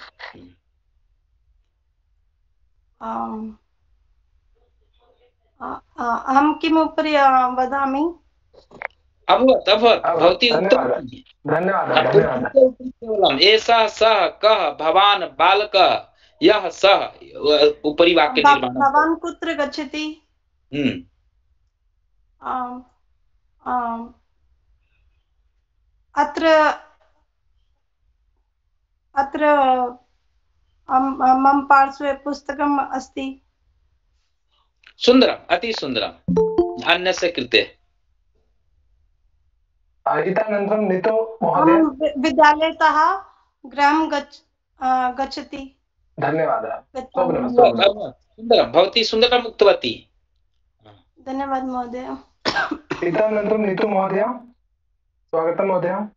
अहं किम् उपरि वदामि? अभवत् अभवत् भवती धन्यवादः। केवलम् एषः सः कः भवान् बालकः यः सः उपरि वाक्य भ- निर्माणं भवान् कुत्र गच्छति? हम्म आम्, आम्, अत्र अत्र अम्- मम पार्श्वे पुस्तकम् अस्ति। सुन्दरम् अति सुन्दरम् अन्यस्य कृते आ, इतोऽनन्तरं नीतो महोदय। अहं वि- विद्यालयतः गृहं गच्छ अ, गच्छति धन्यवादः। गच्छामि। स्वप्नं स्वप्नं सुन्दरं भवती सुन्दरम् उक्तवती। धन्यवादः महोदय। इतोऽनन्तरं नीतु महोदय, स्वागतं महोदय।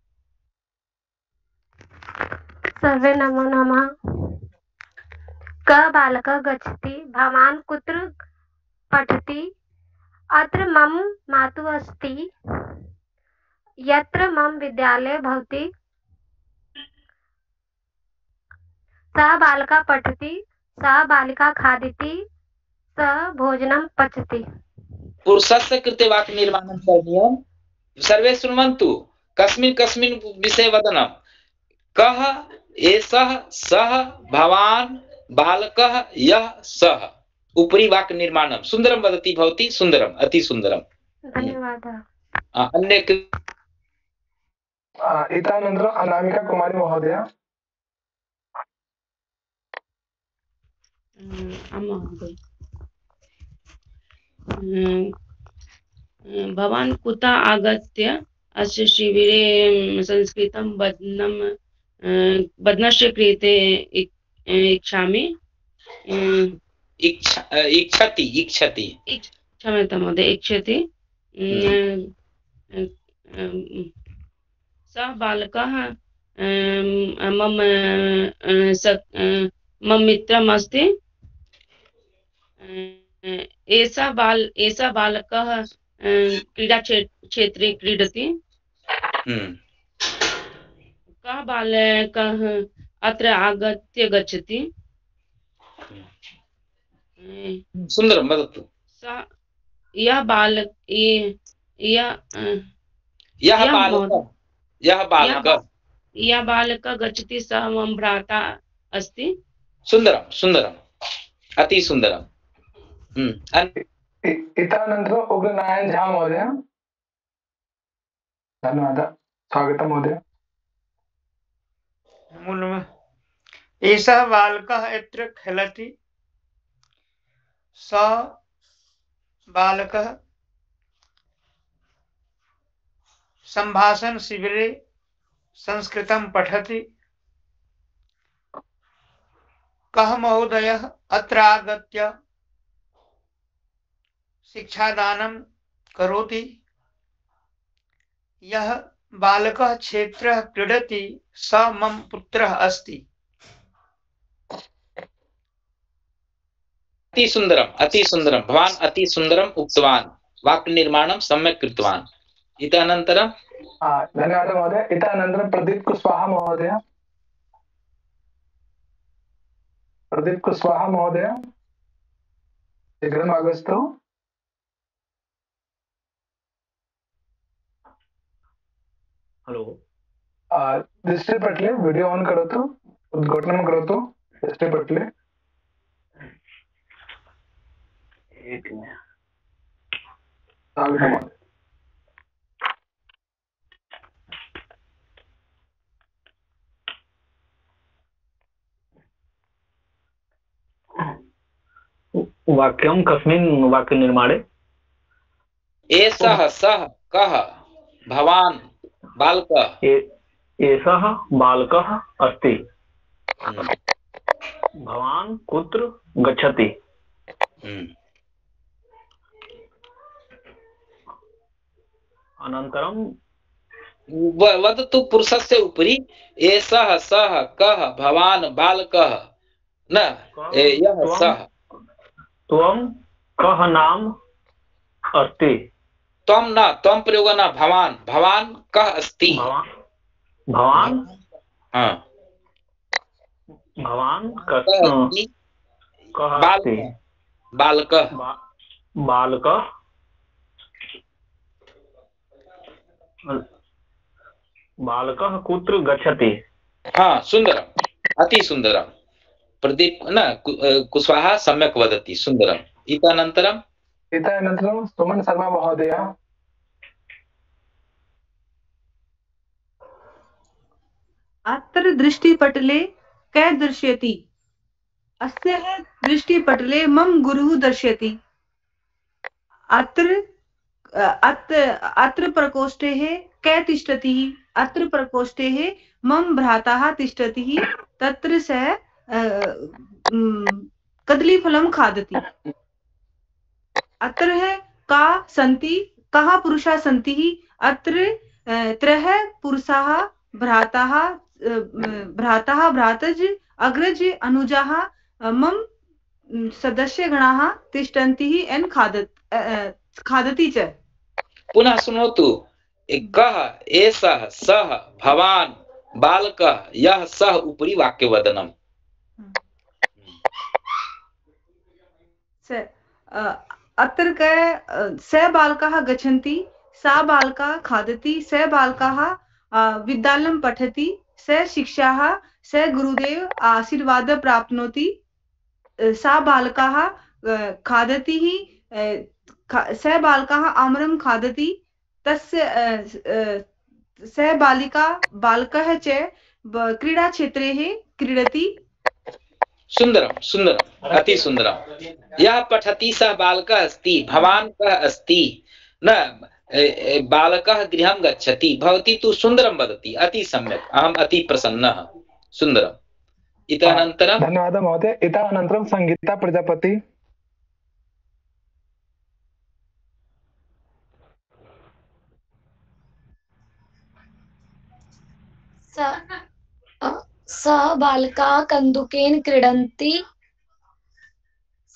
सर्वे नमो नमः। कः बालकः गच्छति? भवान् कुत्र पठति? अत्र मम मातुः अस्ति। यत्र मम विद्यालयः भवति। सः बालकः पठति, सः बालिका खादति, सः भोजनं पचति। पुरुषस्य कृते वाक्यनिर्माणं करणीयं। सर्वे शृण्वन्तु कस्मिन् कस्मिन् विषये वदनं। कः एषः सः भवान् बालकः यः सः उपरि वाक्यनिर्माणं सुन्दरं वदति भवती। सुन्दरम् अति सुन्दरम्। धन्यवादः। आ, अन्य आ, इतोऽनन्तरम् अनामिका कुमारी महोदय। महोदय, भवान् कुतः आगत्य अस्य शिबिरे संस्कृतं वदनं वदनस्य कृते इच्छामि इच्छति इच्छति क्षम्यतां महोदय इच्छति। सः बालकः मम मम मित्रम् अस्ति। एषः बाल एषः बालकः क्रीडा क्षेत्रे क्रीडति। कः बालकः अत्र आगत्य गच्छति? सुन्दरं वदतु। सः यः बालक यः यः बालकः यः बालकः यः बालकः गच्छति सः मम भ्राता अस्ति। सुन्दरं सुन्दरम् अति सुन्दरम्। इतोऽनन्तरम् उग्रनारायण झा महोदय। धन्यवादः। स्वागतं महोदय। नमो नमः। एषः बालकः यत्र खेलति। सः बालकः सम्भाषण शिबिरे संस्कृतं पठति। कः महोदयः अत्र आगत्य शिक्षादानं करोति। यः बालकः क्षेत्रः क्रीडति सः मम पुत्रः अस्ति। अति सुन्दरम् अति सुन्दरं भवान् अति सुन्दरम् उक्तवान्। वाक्यनिर्माणं सम्यक् कृतवान्। इतः अनन्तरं धन्यवादः महोदय। इतः अनन्तरं प्रदीप कुशवाहा महोदय। प्रदीप कुशवाहा महोदय शीघ्रम् आगच्छतु। हलो दृष्टिपटले वीडियो ऑन करोतु, उद्घाटनं करोतु दृष्टिपटले। एक मिनट। स्वागतं महोदय। वाक्यं कस्मिन् वाक्यनिर्माणे? एषः सः कः भवान् बालकः एषः बालकः अस्ति। भवान् कुत्र गच्छति? अनन्तरं वदतु पुरुषस्य उपरि एषः सः कः भवान् बालकः न यः सः। त्वं कः नाम अस्ति? त्वं न त्वं प्रयोग न भवान् भवान् कः अस्ति? भवान् हाँ भवान् कः अस्ति? बालकः बालकः बालकः कुत्र गच्छति? हाँ सुन्दरम् अति सुन्दरम्। प्रदीप न कुशवाहा सम्यक् वदति सुन्दरम् इतःनन्तरम् इतःनन्तरं सुमन शर्मा महोदय अत्र दृष्टिपटले कः दर्शयति अस्य दृष्टिपटले मम गुरुः दर्शयति अत्र अत्र अत्र प्रकोष्ठे कः तिष्ठति अत्र प्रकोष्ठे मम भ्राता तिष्ठति तत्र सः कदलीफलं खादति अत्र का सन्ति कः पुरुषाः सन्ति अत्र त्रयः पुरुषाः भ्राताः भ्राताः भ्रातृज अग्रज अनुजाः मम सदस्यगणाः तिष्ठन्ति एन् खादत् खादति च पुनः शृणोतु कः एषः सः भवान् बालकः यः सः उपरि वाक्यवदनम् अत्र क स बालकाः गच्छन्ति सा बालका खादति स बालकाः विद्यालयं पठति स शिक्षाः स गुरुदेव आशीर्वादं प्राप्नोति सा बालकाः खादति स बालकाः आम्रं खादति तस्य स बालिका बालकः च क्रीडाक्षेत्रे क्रीडति सुन्दरं सुन्दरम् अति सुन्दरं यः पठति सः बालकः अस्ति भवान् कः अस्ति न बालकः गृहं गच्छति भवती तु सुन्दरं वदति अति सम्यक् अहम् अति प्रसन्नः सुन्दरम् इतःनन्तरं धन्यवादः महोदय इतःनन्तरं संगीता प्रजापति सः बालका कन्दुकेन क्रीडन्ति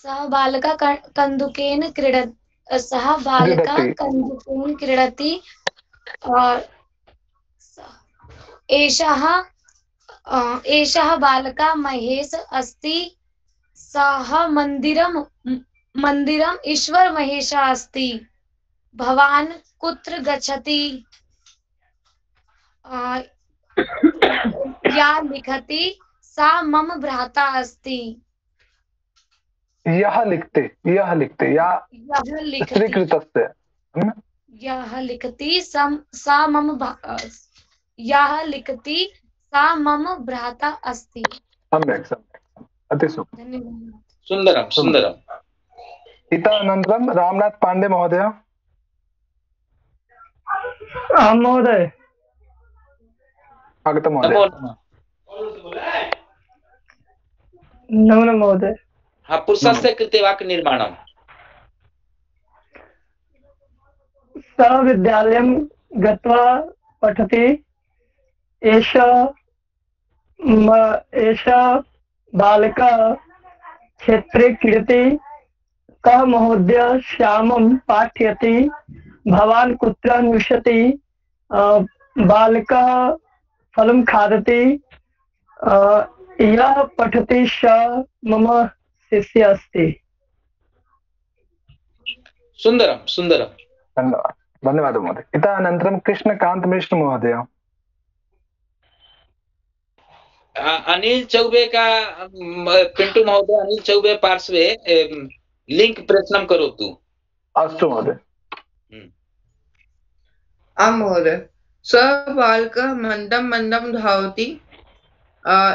सः बालका कन्दुकेन क्रीड सः बालका कन्दुकेन क्रीडति एषः एषः बालका महेश अस्ति सः मन्दिरं मन्दिरम् ईश्वर महेशः अस्ति भवान् कुत्र गच्छति या लिखति सा मम भ्राता अस्ति यः लिखते यः लिखते या स्त्रीकृतस्य यः लिखति सा मम यः लिखति सा मम भ्राता अस्ति सम्यक् सम्यक् अति सुन्दरं सुन्दरम् इतःनन्तरं रामनाथ पाण्डे महोदय आं महोदय स्वागतं महोदय नमो नमः महोदय हाँ पुरुषस्य कृते वाक्यनिर्माणं सः विद्यालयं गत्वा पठति एषा एषा बालिका क्षेत्रे क्रीडति कः महोदय श्यामं पाठयति भवान् कुत्र अन्विषति बालिका फलं खादति यः पठति सः मम शिष्य अस्ति सुन्दरं सुन्दरं धन्यवादः धन्यवादः महोदय इतःनन्तरं कृष्णकान्त मिश्र महोदय अनिल चौबे का पिंटू महोदय अनिल चौबे पार्श्वे लिंक प्रेषणं करोतु अस्तु महोदय आं महोदय सः बालकः मन्दं मन्दं धावति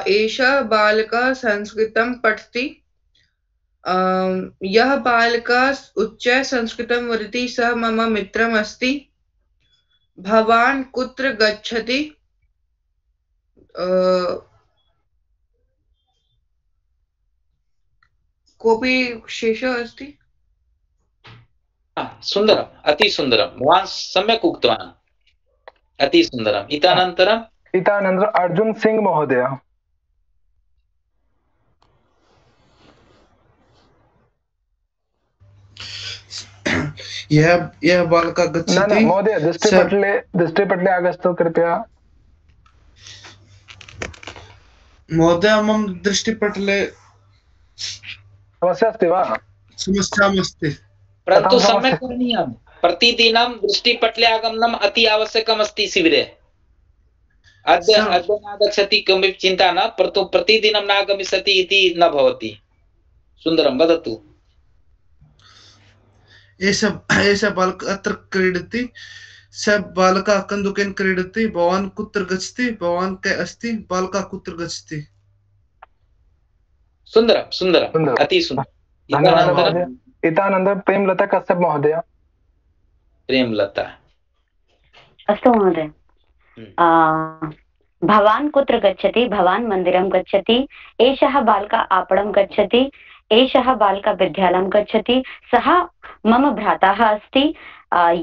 एषः बालकः संस्कृतं पठति यः बालकः उच्च संस्कृतं वदति सः मम मित्रम् अस्ति भवान् कुत्र गच्छति कोऽपि शेषः अस्ति सुन्दरम् अति सुन्दरं भवान् सम्यक् उक्तवान् अति सुन्दरम् इतःनन्तरम् इतःनन्तरम् अर्जुन सिंह महोदय यह यह बालका गच्छति महोदय दृष्टिपटले दृष्टिपटले आगच्छतु कृपया महोदय मम दृष्टिपटले समस्या अस्ति वा समस्या अस्ति परन्तु सम्यक् करणीयं प्रतिदिनं दृष्टिपटले आगमनम् अति आवश्यकम् अस्ति शिबिरे अद्य अद्य नागच्छति किमपि चिन्ता न, परन्तु प्रतिदिनं नागमिष्यति इति न भवति। सुन्दरं वदतु। एषः एषः बालकः अत्र क्रीडति, सः बालकः कन्दुकेन क्रीडति, भवान् कुत्र गच्छति, भवान् के अस्ति, बालकः कुत्र गच्छति। सुन्दरं सुन्दरम्, अति सुन्दरम्। धन्यवादः। इतानन्तरं प्रेमलता कश्यप महोदय। प्रेमलता। अस्तु महोदय। भवान् कुत्र गच्छति, भवान् मन्दिरं गच्छति, एषः बालकः आपणं गच्छति, एषः बालकः विद्यालयं गच्छति, सः मम भ्राता अस्ति,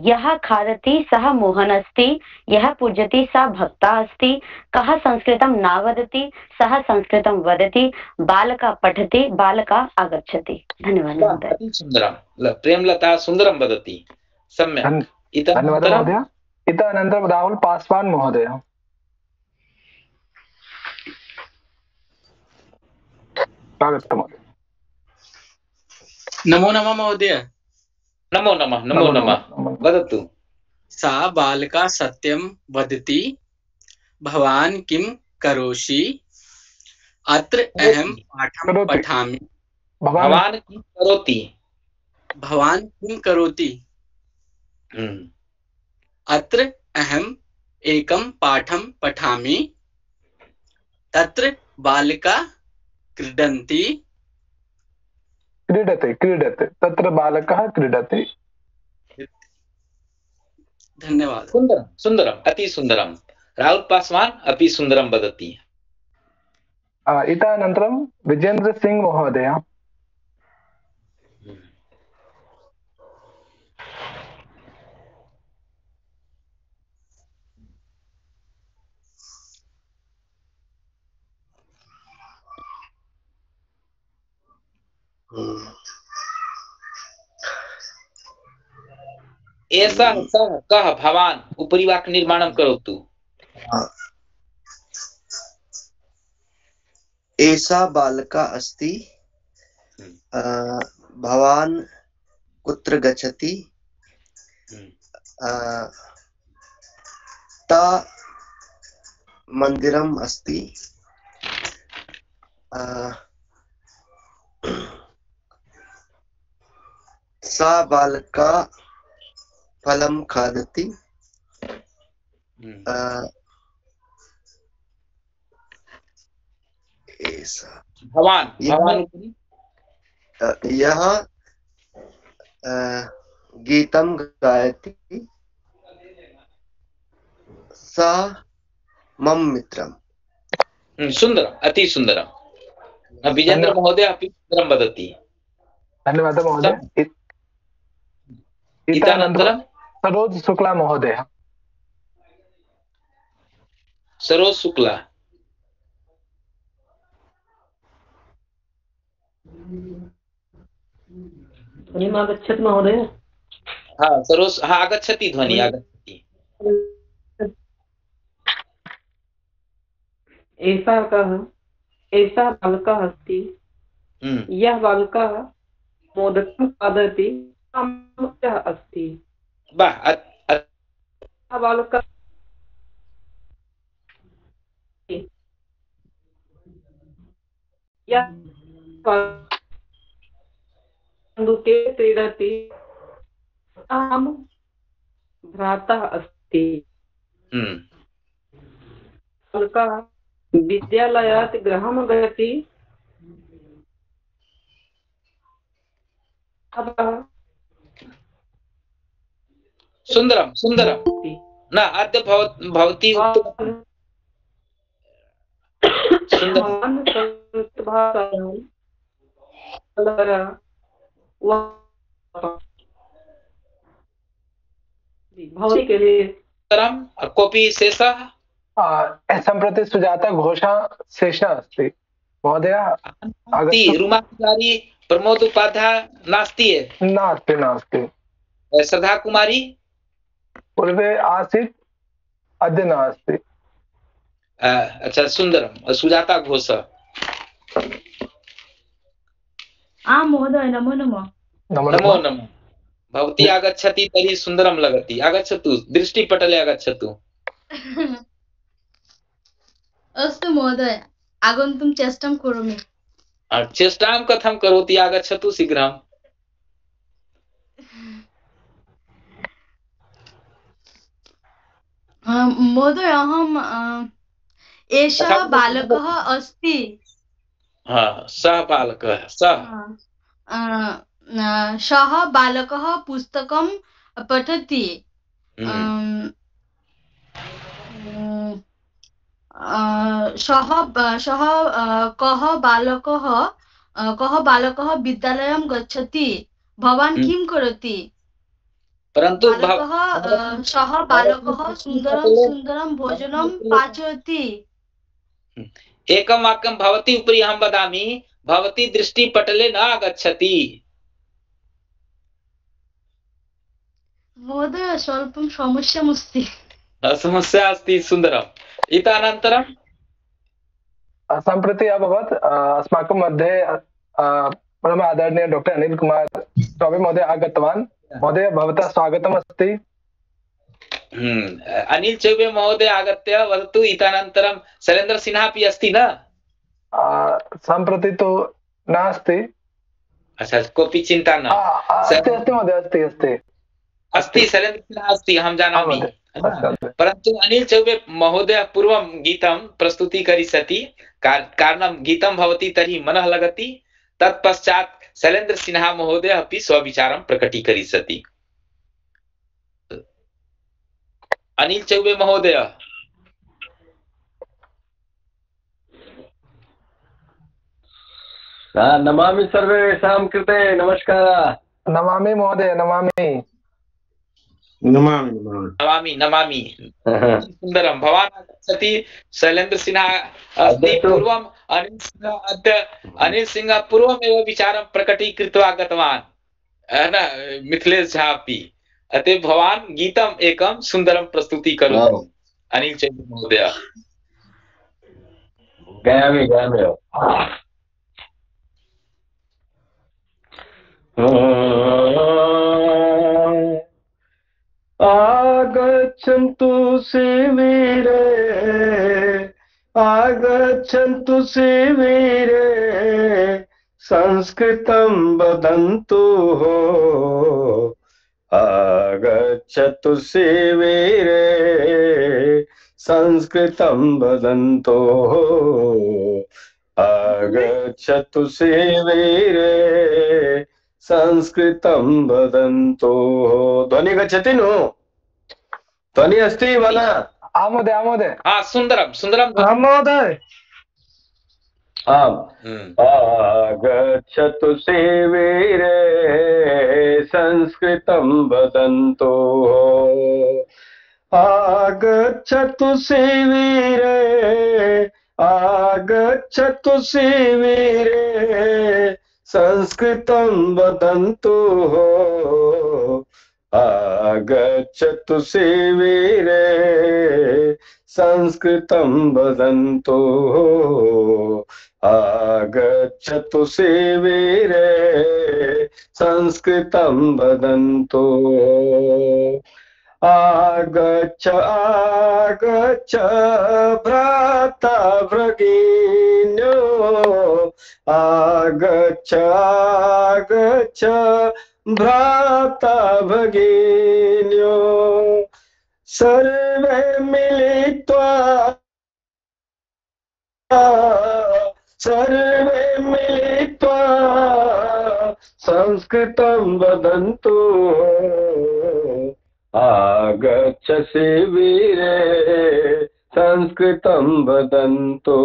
यः खादति सः मोहन अस्ति, यः पूजति सः भक्ता अस्ति, कः संस्कृतं न वदति सः संस्कृतं वदति, बालकः पठति, बालकः आगच्छति। धन्यवादः महोदय। अति सुन्दरं। प्रेमलता सुन्दरं वदति, सम्यक्। धन्यवादः महोदय। इतः अनन्तरं राहुल पासवान महोदय। स्वागतं महोदय। नमो नमः महोदय। नमो नमः। नमो नमः। वदतु। सा बालिका सत्यं वदति, भवान् किं करोषि, अत्र अहं पाठं पठामि। भवान् किं करोति, भवान् किं करोति, अत्र अहम् एकं पाठं पठामि, तत्र बालिका क्रीडन्ति, क्रीडते क्रीडते तत्र बालकः क्रीडति। धन्यवादः। सुन्दरं सुन्दरम्, अति सुन्दरं। राहुल पासवान अपि सुन्दरं वदति। इतः अनन्तरं विजेन्द्र सिंह महोदय। एषः सः कः भवान् उपरि वाक्यनिर्माणं करोतु। एषा बालिका अस्ति, भवान् कुत्र गच्छति, ता मन्दिरम् अस्ति, सा बालिका फलं खादति, भवान् भवान् यह गीतं गायति, सा मम मित्रम्। सुन्दरम्, अति सुन्दरम्। विजेन्द्र महोदय अपि सुन्दरं वदति। धन्यवादः महोदय। इतःनन्तरं सरोज शुक्ला महोदय। सरोज शुक्ला। ध्वनिम् आगच्छति महोदय। हाँ सरोज, हाँ आगच्छति ध्वनि आगच्छति। एषा कः, एषा बालकः अस्ति, यः बालकः मोदकं खादति अस्ति। बालकः कन्दुके क्रीडति, अहं भ्राता अस्ति। बालकः विद्यालयात् गृहं गच्छति, सुन्दरं सुन्दरं। न अद्य भवती कोऽपि शेषः? सम्प्रति सुजाता घोषा शेषः अस्ति महोदय। रुमाकुमारी प्रमोद उपाध्याय नास्ति? नास्ति नास्ति। श्रद्धा कुमारी पूर्वे आसीत्, अद्य नास्ति। अच्छा सुन्दरं। सुजाता घोष। आं महोदय, नमो नमः। नमो नमः। भवती आगच्छति तर्हि सुन्दरं लगति। आगच्छतु, दृष्टिपटले आगच्छतु। अस्तु महोदय, आगन्तुं चेष्टां करोमि। चेष्टां कथं करोति? आगच्छतु शीघ्रम्। महोदय, अहं एषः बालकः अस्ति। सः बालकः सः सः बालकः पुस्तकं पठति। सः सः कः बालकः कः बालकः विद्यालयं गच्छति? भवान् किं करोति? परन्तु बालकः सः बालकः सुन्दरं सुन्दरं भोजनं पाचयति। एकं वाक्यं भवती उपरि अहं वदामि, भवती दृष्टिपटले न आगच्छति। महोदय, स्वल्पं समस्यामस्ति। समस्या अस्ति, सुन्दरम्। इतः सम्प्रति अभवत् अस्माकं मध्ये परम आदरणीय डॉक्टर अनिल कुमार चौबे महोदय आगतवान्। महोदय, भवतः स्वागतम् अस्ति। अनिल चौबे महोदय आगत्य वदतु। इतः शैलेन्द्र सिन्हा अपि अस्ति न? सम्प्रति तु नास्ति। अच्छा, कोऽपि चिन्ता न। अस्ति अस्ति महोदय, अस्ति अस्ति अस्ति शैलेन्द्र सिन्हा अस्ति, अहं जानामि। परन्तु अनिल चौबे महोदय पूर्वं गीतं प्रस्तुतीकरिष्यति। कारणं गीतं भवति तर्हि मनः लगति। तत्पश्चात् शैलेन्द्र सिन्हा महोदय अपि स्वविचारं प्रकटीकरिष्यति। अनिल चौबे महोदय। नमामि सर्वेषां कृते। नमस्कारः। नमामि महोदय, नमामि नमामि नमामि नमामि। सुन्दरं। भवान् आगच्छति। शैलेन्द्र सिन्हा अस्ति। पूर्वम् अनिल सिंह अद्य अनिल सिंह पूर्वमेव विचारं प्रकटीकृत्वा गतवान् न, मिथिलेश झा अपि। अतः भवान् गीतम् एकं सुन्दरं प्रस्तुतीकरोतु अनिल चौबे महोदय। गायामि गायामि। आगच्छन्तु शिविरे, आगच्छन्तु शिविरे, संस्कृतं वदन्तु हो। आगच्छतु शिविरे, संस्कृतं वदन्तु हो। आगच्छतु शिविरे, संस्कृतं वदन्तु हो। ध्वनि गच्छति नु? ध्वनि अस्ति वा न? आम् महोदय, आम् महोदय। हा, सुन्दरं सुन्दरं महोदय। आम्। आगच्छतु शिविरे, संस्कृतं वदन्तु हो। आगच्छतु शिविरे, आगच्छतु शिविरे, संस्कृतं वदन्तु हो। आगच्छतु शिविरे, संस्कृतं वदन्तु हो। आगच्छतु शिविरे, संस्कृतं वदन्तु हो। आगच्छ आगच्छ भ्राता भगिन्यो, आगच्छ आगच्छ भ्राता भगिन्यो, सर्वे मिलित्वा सर्वे मिलित्वा संस्कृतं वदन्तु। आगच्छ शिविरे, संस्कृतं वदन्तु।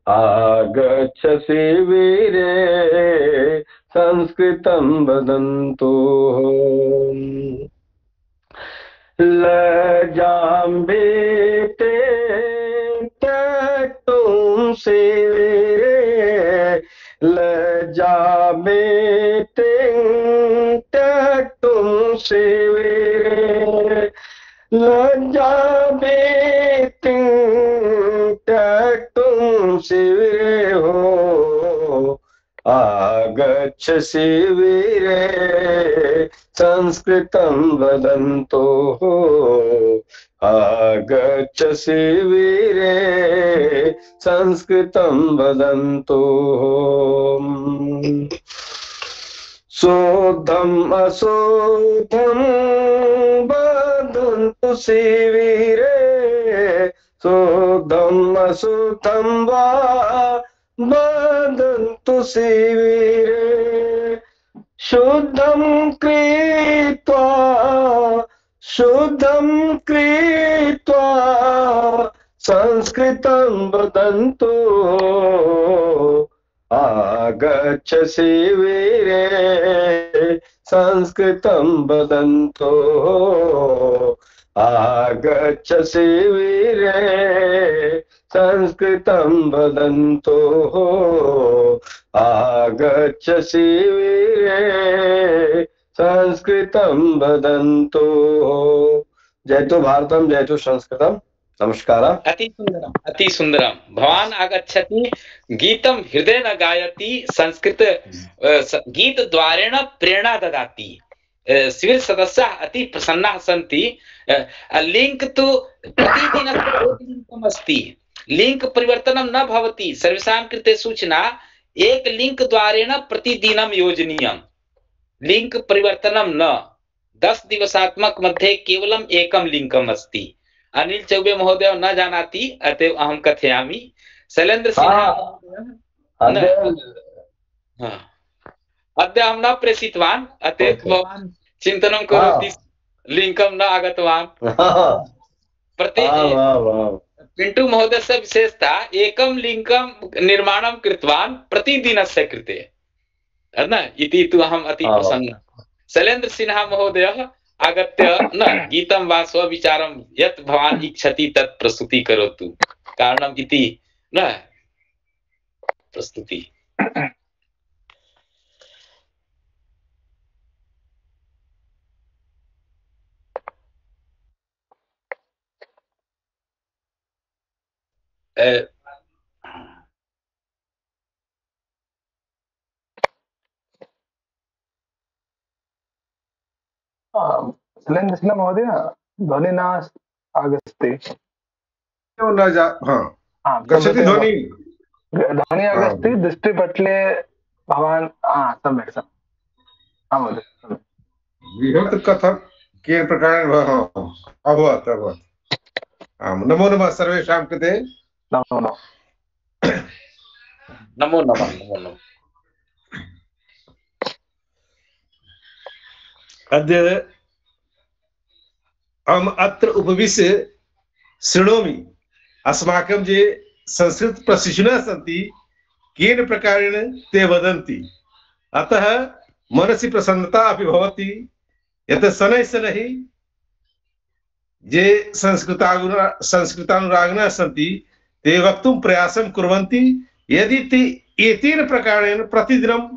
आगच्छ शिविरे, संस्कृतं वदन्तु। लजाम्बिते त्यक्तुं शिविरे, लजाम्बिते त्यक्तुं शिविरे, लजाम्बिते त्यक्तुं शिविरे हो। आगच्छ शिबिरे संस्कृतं वदन्तो आगच्छ शिबिरे संस्कृतं वदन्तो शोद्धम् अशोद्धम् वदन्तु शिबिरे शोद्धम् अशोद्धम् वा वदन्तु शिबिरे शुद्धं कृत्वा शुद्धं कृत्वा संस्कृतं वदन्तु आगच्छ शिबिरे संस्कृतं वदन्तु आगच्छ शिबिरे संस्कृतं वदन्तु आगच्छ शिबिरे संस्कृतं वदन्तु। जयतु भारतम जयतु संस्कृतम। नमस्कार। अति सुंदरम अति सुंदरम। भवान आगच्छति गीतम हृदय न गायति संस्कृत गीत द्वारेण प्रेरणा ददाति। शिविर सदस्याः अति प्रसन्नाः सन्ति। लिंक तु प्रतिदिनं अस्ति, लिंक परिवर्तनं न भवति। सर्वेषां कृते सूचना एक लिंक द्वारेण प्रतिदिनं योजनीयम्। लिंक परिवर्तनं न। दस दिवसात्मक मध्ये केवलम् एकं लिंकम् अस्ति। अनिल चौबे महोदय न जानाति, अतएव अहं कथयामि। शैलेन्द्र सिन्हा अद्य अहं न प्रेषितवान्, अतएव भवान् चिन्तनं करोति लिंकं न आगतवान्। प्रति पिंटू महोदयस्य विशेषता एकं लिंकं निर्माणं कृतवान् प्रतिदिनस्य कृते न इति तु अहम् अति प्रसन्नः। शैलेन्द्र सिन्हा महोदयः आगत्य न गीतं वा स्वविचारं यत् भवान् इच्छति तत् प्रस्तुति करोतु कारणम् इति न प्रस्तुति। शैलेन्द्र सिन्हा महोदय ध्वनि न आगच्छति। न जा हाँ गच्छति ध्वनि ध्वनि आगच्छति दृष्टिपटले भवान् हाँ सम्यक् सम्यक् हाँ महोदय बृहत् कथं केन प्रकारेण अभवत् अभवत्। आं नमो नमः सर्वेषां कृते। नमो नमः नमो नमः नमो नमः। अद्य अहम् अत्र उपविश्य शृणोमि अस्माकं ये संस्कृत प्रशिक्षिणः सन्ति केन प्रकारेण ते वदन्ति। अतः मनसि प्रसन्नता अपि भवति यत् शनैः शनैः ये संस्कृतानुरा संस्कृतानुरागिणः सन्ति ते वक्तुं प्रयासं कुर्वन्ति। यदि ते एतेन प्रकारेण प्रतिदिनम्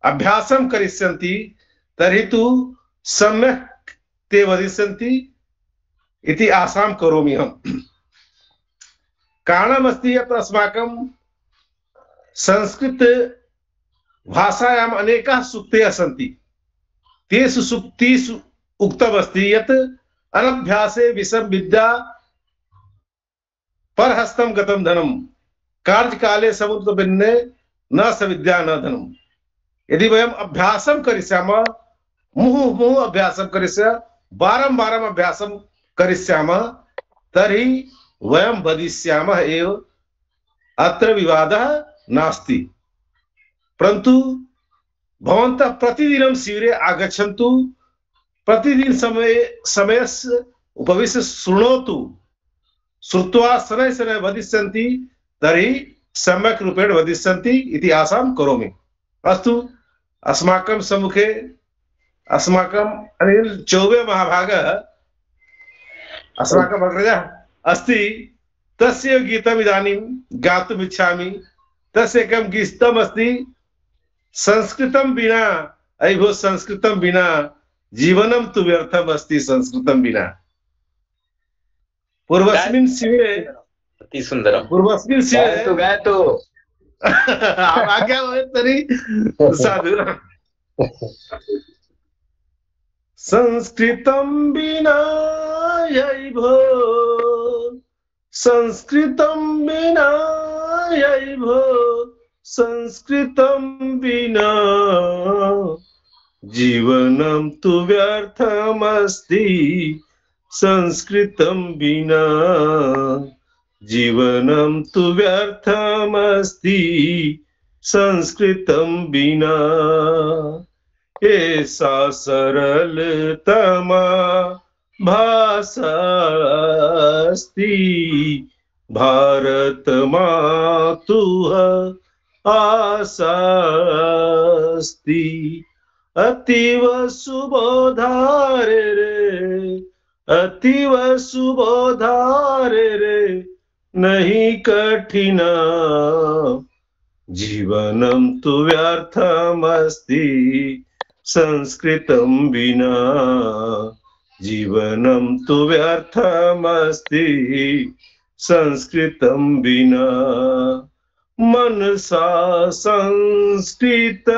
अभ्यासं करिष्यन्ति तर्हि तु सम्यक् ते वदिष्यन्ति इति आशां करोमि अहम्। कारणमस्ति यत् अस्माकं संस्कृत भाषायाम् अनेकाः सूक्तयः सन्ति। तेषु सूक्तिषु उक्तमस्ति यत् अनभ्यासे विषम विद्या परहस्तं गतं धनं कार्यकाले समुद्रभिन्ने न स विद्या न धनम्। यदि वयम् अभ्यासं करिष्यामः मुहुः मुहुः अभ्यासं करिष्यामः बारम्बारम् अभ्यासं करिष्यामः तर्हि वयं वदिष्यामः एव। अत्र विवादः नास्ति। परन्तु भवन्तः प्रतिदिनं शिबिरे आगच्छन्तु, प्रतिदिन समय समयस्य उपविश्य शृणोतु। श्रुत्वा शनैः शनैः वदिष्यन्ति तर्हि सम्यक् रूपेण वदिष्यन्ति इति आशां करोमि। अस्तु, अस्माकं सम्मुखे अस्माकम् अनिल चौबे महाभागः अस्माकम् अग्रजः अस्ति। तस्य गीतम् इदानीं गातुम् इच्छामि। तस्य एकं गीतम् अस्ति संस्कृतं विना अयि भो संस्कृतं विना जीवनं तु व्यर्थम् अस्ति संस्कृतं विना। पूर्वस्मिन् शिबिरे अति सुन्दरं पूर्वस्मिन् शिबिरे गायतु गायतु आज्ञा होय तरी साधु संस्कृतं विना यैभो संस्कृतं विना यैभो संस्कृतं विना जीवनं तु व्यर्थमस्ति संस्कृतं विना जीवनं तु व्यर्थमस्ति संस्कृतं विना ऐसा सरलतमा भाषा अस्ति भारत मातुः आशा अस्ति अतीव सुबोधारे रे अतीव सुबोधारे रे नहीं कठिना जीवनं तु व्यर्थमस्ति संस्कृतं विना जीवनं तु व्यर्थमस्ति संस्कृतं विना मनसा संस्कृत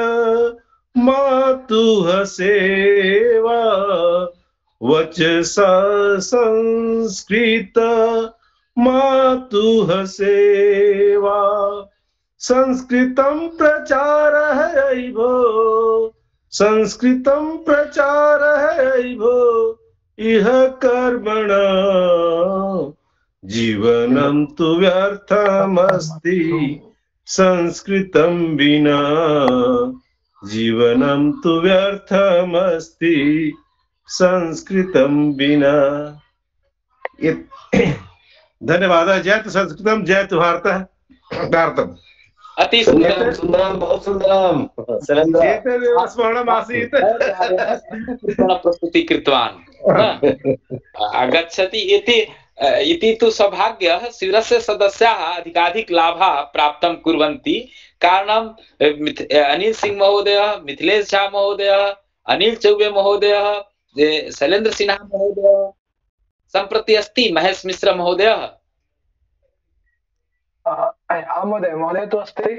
मातुः सेवा वचसा संस्कृत मातुः सेवा संस्कृतं प्रचारः ऐभो संस्कृतं प्रचारः ऐभो इह कर्मणा जीवनं तु व्यर्थमस्ति संस्कृतं विना जीवनं तु व्यर्थमस्ति संस्कृतं विना। धन्यवाद। जयतु संस्कृतं जयतु भारतः भारतम्। अति सुंदरं सुंदरं बहुत सुंदरं एतदेव स्मरणम् आसीत् प्रस्तुति कृतवान् आगच्छति इति इति तु सौभाग्यः शिविरस्य सदस्याः अधिकाधिक लाभः प्राप्तं कुर्वन्ति कारणं अनिल सिंह महोदयः मिथिलेश झा महोदयः अनिल चौबे महोदयः शैलेन्द्र सिन्हा महोदयः सम्प्रति अस्ति महेश मिश्र महोदयः महोदय महोदय तु अस्ति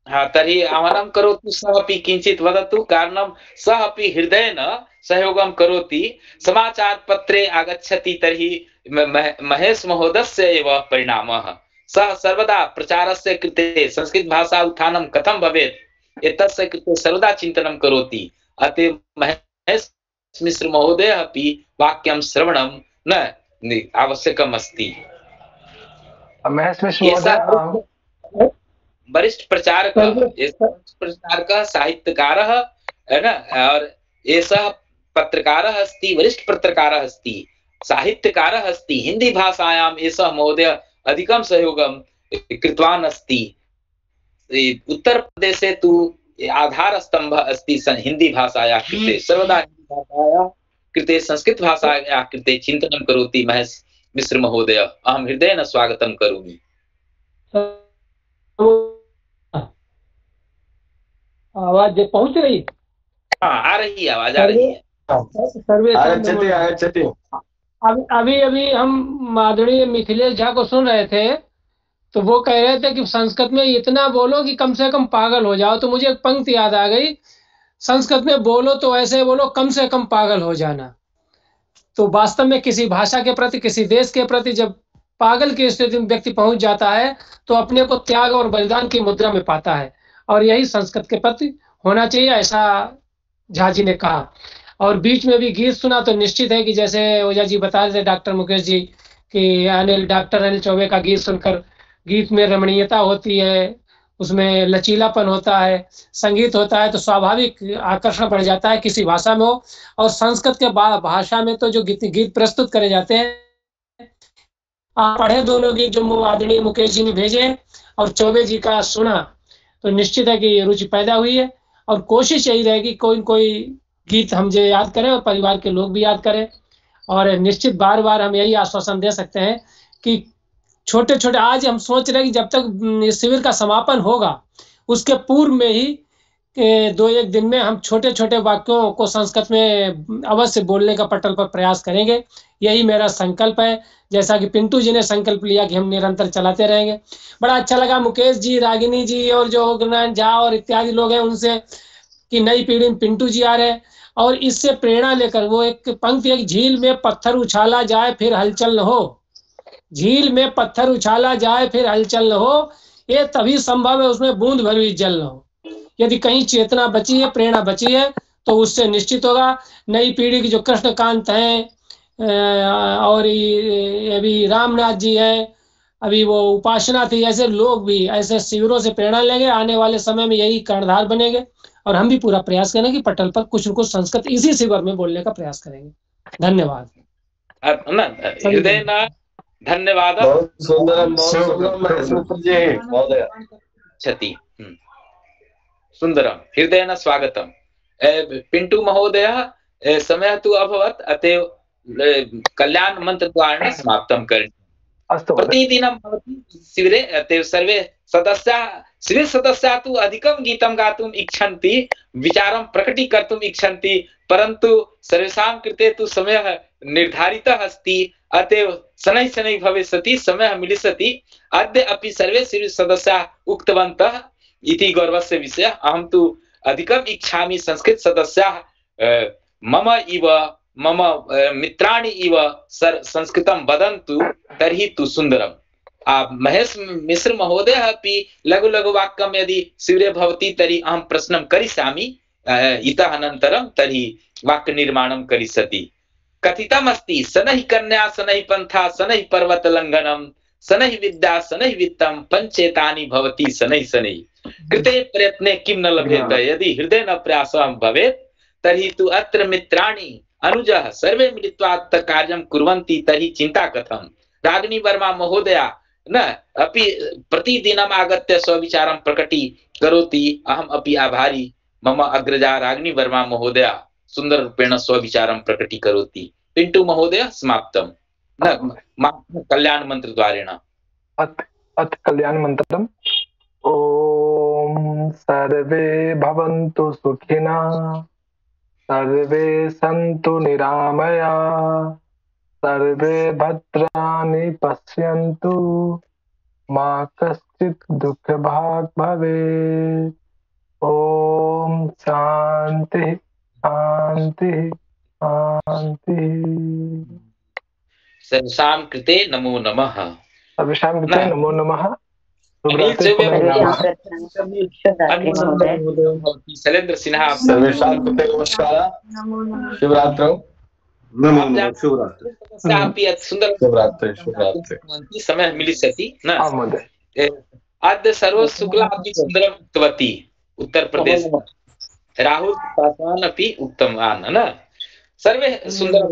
हाँ तर्हि आह्वानं करोतु सः अपि किञ्चित् वदतु कारणं सः अपि हृदयेन सहयोगं करोति समाचारपत्रे आगच्छति तर्हि महेश महोदयस्य एव परिणामः सः सर्वदा प्रचारस्य कृते संस्कृतभाषा उत्थानं कथं भवेत् एतस्य कृते सर्वदा चिन्तनं करोति अतः महेश मिश्र महोदयः अपि वाक्यं श्रवणं न आवश्यकम् अस्ति। महेश मिश्र महोदय वरिष्ठ प्रचारक प्रचारकः साहित्यकारः है ना और एषः पत्रकारः अस्ति वरिष्ठ पत्रकारः अस्ति साहित्यकारः अस्ति हिंदी भाषायाम् एषः महोदय अधिकं सहयोगं कृतवान् अस्ति। उत्तर प्रदेशे तु आधारस्तम्भः अस्ति हिंदी भाषायाः कृते सर्वदा हिंदी भाषायाः कृते संस्कृत भाषायाः कृते चिन्तनं करोति महेश मिश्र महोदय अहं हृदयेन स्वागतं करोमि। आवाज पहुंच रही? हाँ आ रही है आवाज आ रही है। सर्वे आगच्छति आगच्छति। अभी अभी हम माधुरी मिथिलेश झा को सुन रहे थे तो वो कह रहे थे कि संस्कृत में इतना बोलो कि कम से कम पागल हो जाओ। तो मुझे एक पंक्ति याद आ गई, संस्कृत में बोलो तो ऐसे बोलो कम से कम पागल हो जाना। तो वास्तव में किसी भाषा के प्रति किसी देश के प्रति जब पागल की स्थिति में व्यक्ति पहुंच जाता है तो अपने को त्याग और बलिदान की मुद्रा में पाता है और यही संस्कृत के प्रति होना चाहिए, ऐसा झा जी ने कहा। और बीच में भी गीत सुना तो निश्चित है कि जैसे ओझा जी बता रहे थे डॉक्टर मुकेश जी कि अनिल डॉक्टर अनिल चौबे का गीत सुनकर गीत में रमणीयता होती है, उसमें लचीलापन होता है, संगीत होता है तो स्वाभाविक आकर्षण बढ़ जाता है किसी भाषा में हो। और संस्कृत के भाषा में तो जो गीत गीत प्रस्तुत करे जाते हैं, आप पढ़े दोनों गीत जो आदरणीय मुकेश जी ने भेजे और चौबे जी का सुना तो निश्चित है कि रुचि पैदा हुई है। और कोशिश यही रहेगी कोई कोई गीत हम जो याद करें और परिवार के लोग भी याद करें। और निश्चित बार बार हम यही आश्वासन दे सकते हैं कि छोटे छोटे आज हम सोच रहे हैं कि जब तक शिविर का समापन होगा उसके पूर्व में ही कि दो एक दिन में हम छोटे छोटे वाक्यों को संस्कृत में अवश्य बोलने का पटल पर प्रयास करेंगे। यही मेरा संकल्प है, जैसा कि पिंटू जी ने संकल्प लिया कि हम निरंतर चलाते रहेंगे। बड़ा अच्छा लगा मुकेश जी, रागिनी जी और जो गुरुनारायण झा और इत्यादि लोग हैं उनसे कि नई पीढ़ी में पिंटू जी आ रहे हैं और इससे प्रेरणा लेकर वो एक पंक्ति, एक झील में पत्थर उछाला जाए फिर हलचल न हो, झील में पत्थर उछाला जाए फिर हलचल न हो, ये तभी संभव है उसमें बूंद भर भी जल न हो। यदि कहीं चेतना बची है, प्रेरणा बची है, तो उससे निश्चित होगा नई पीढ़ी की जो कृष्णकांत हैं और अभी रामनाथ जी हैं, अभी वो उपासना थी, ऐसे लोग भी ऐसे शिविरों से प्रेरणा लेंगे। आने वाले समय में यही कर्णधार बनेंगे और हम भी पूरा प्रयास करेंगे कि पटल पर कुछ न कुछ संस्कृत इसी शिविर में बोलने का प्रयास करेंगे। धन्यवाद। हृदय न धन्यवाद। क्षति सुंदरम हृदय न स्वागतम। पिंटू महोदय समय तु अभवत्, अतएव कल्याण मंत्र द्वारा समाप्तं करणीयम्। प्रतिदिनं भवति शिविरे, अतएव सर्वे सदस्याः शिविर सदस्याः तु अधिकं गीतं गातुम् इच्छन्ति, विचारं प्रकटीकर्तुम् इच्छन्ति, परन्तु सर्वेषां कृते तु समयः निर्धारितः अस्ति, अतएव शनैः शनैः भविष्यति, समयः मिलिष्यति। अद्य अपि सर्वे शिविर सदस्याः उक्तवन्तः इति गौरवस्य विषयः। अहं तु अधिकम् इच्छामि संस्कृत सदस्याः मम इव मम मित्राणि इव संस्कृतं वदन्तु, तर्हि तु सुन्दरम्। महेश मिश्र महोदयः अपि लघु लघु वाक्यं यदि शिविरे भवति तर्हि अहं प्रश्नं करिष्यामि इतः अनन्तरं, तर्हि वाक्यनिर्माणं करिष्यति। कथितमस्ति शनैः कन्या शनैः पन्था शनैः पर्वतलङ्घनं शनैः विद्या शनैः वित्तं पञ्चेतानि भवति शनैः शनैः कृते प्रयत्ने किं न लभ्येत यदि हृदय न प्रयासः भवेत् तर्हि तु अत्र मित्राणि अनुजः सर्वे मिलित्वा कार्यं कुर्वन्ति तर्हि चिन्ता कथं। रागिनी वर्मा महोदया न अपि प्रतिदिनम् आगत्य स्वविचारं प्रकटीकरोति। अहम् अपि आभारी। मम अग्रजा रागिनी वर्मा महोदया सुन्दररूपेण स्वविचारं प्रकटीकरोति। पिंटू महोदय समाप्तं न कल्याण मंत्र द्वारेण। अथ अथ कल्याण मंत्रम्। ओम सर्वे भवन्तु सुखिनः, सर्वे सन्तु निरामया, सर्वे भद्राणि पश्यन्तु, मा कश्चित् दुःखभाग् भवेत्। ओम शांति शांति शांति। सर्वेषां कृते नमो नमः। सर्वेषां कृते नमो नमः। शैलेंद्र सिन्हा सर्वेषां कृते नमस्कारः। शिवरात्रौ नमो नमः। शिवरात्रि सुंदर शिवरात्रि शिवरात्रि समय मिलिष्यति न। अद्य सर्व शुक्ला अपि सुन्दरम् उक्तवती उत्तर प्रदेश। राहुल पासवान अपि उक्तवान् न। सर्वे सुन्दर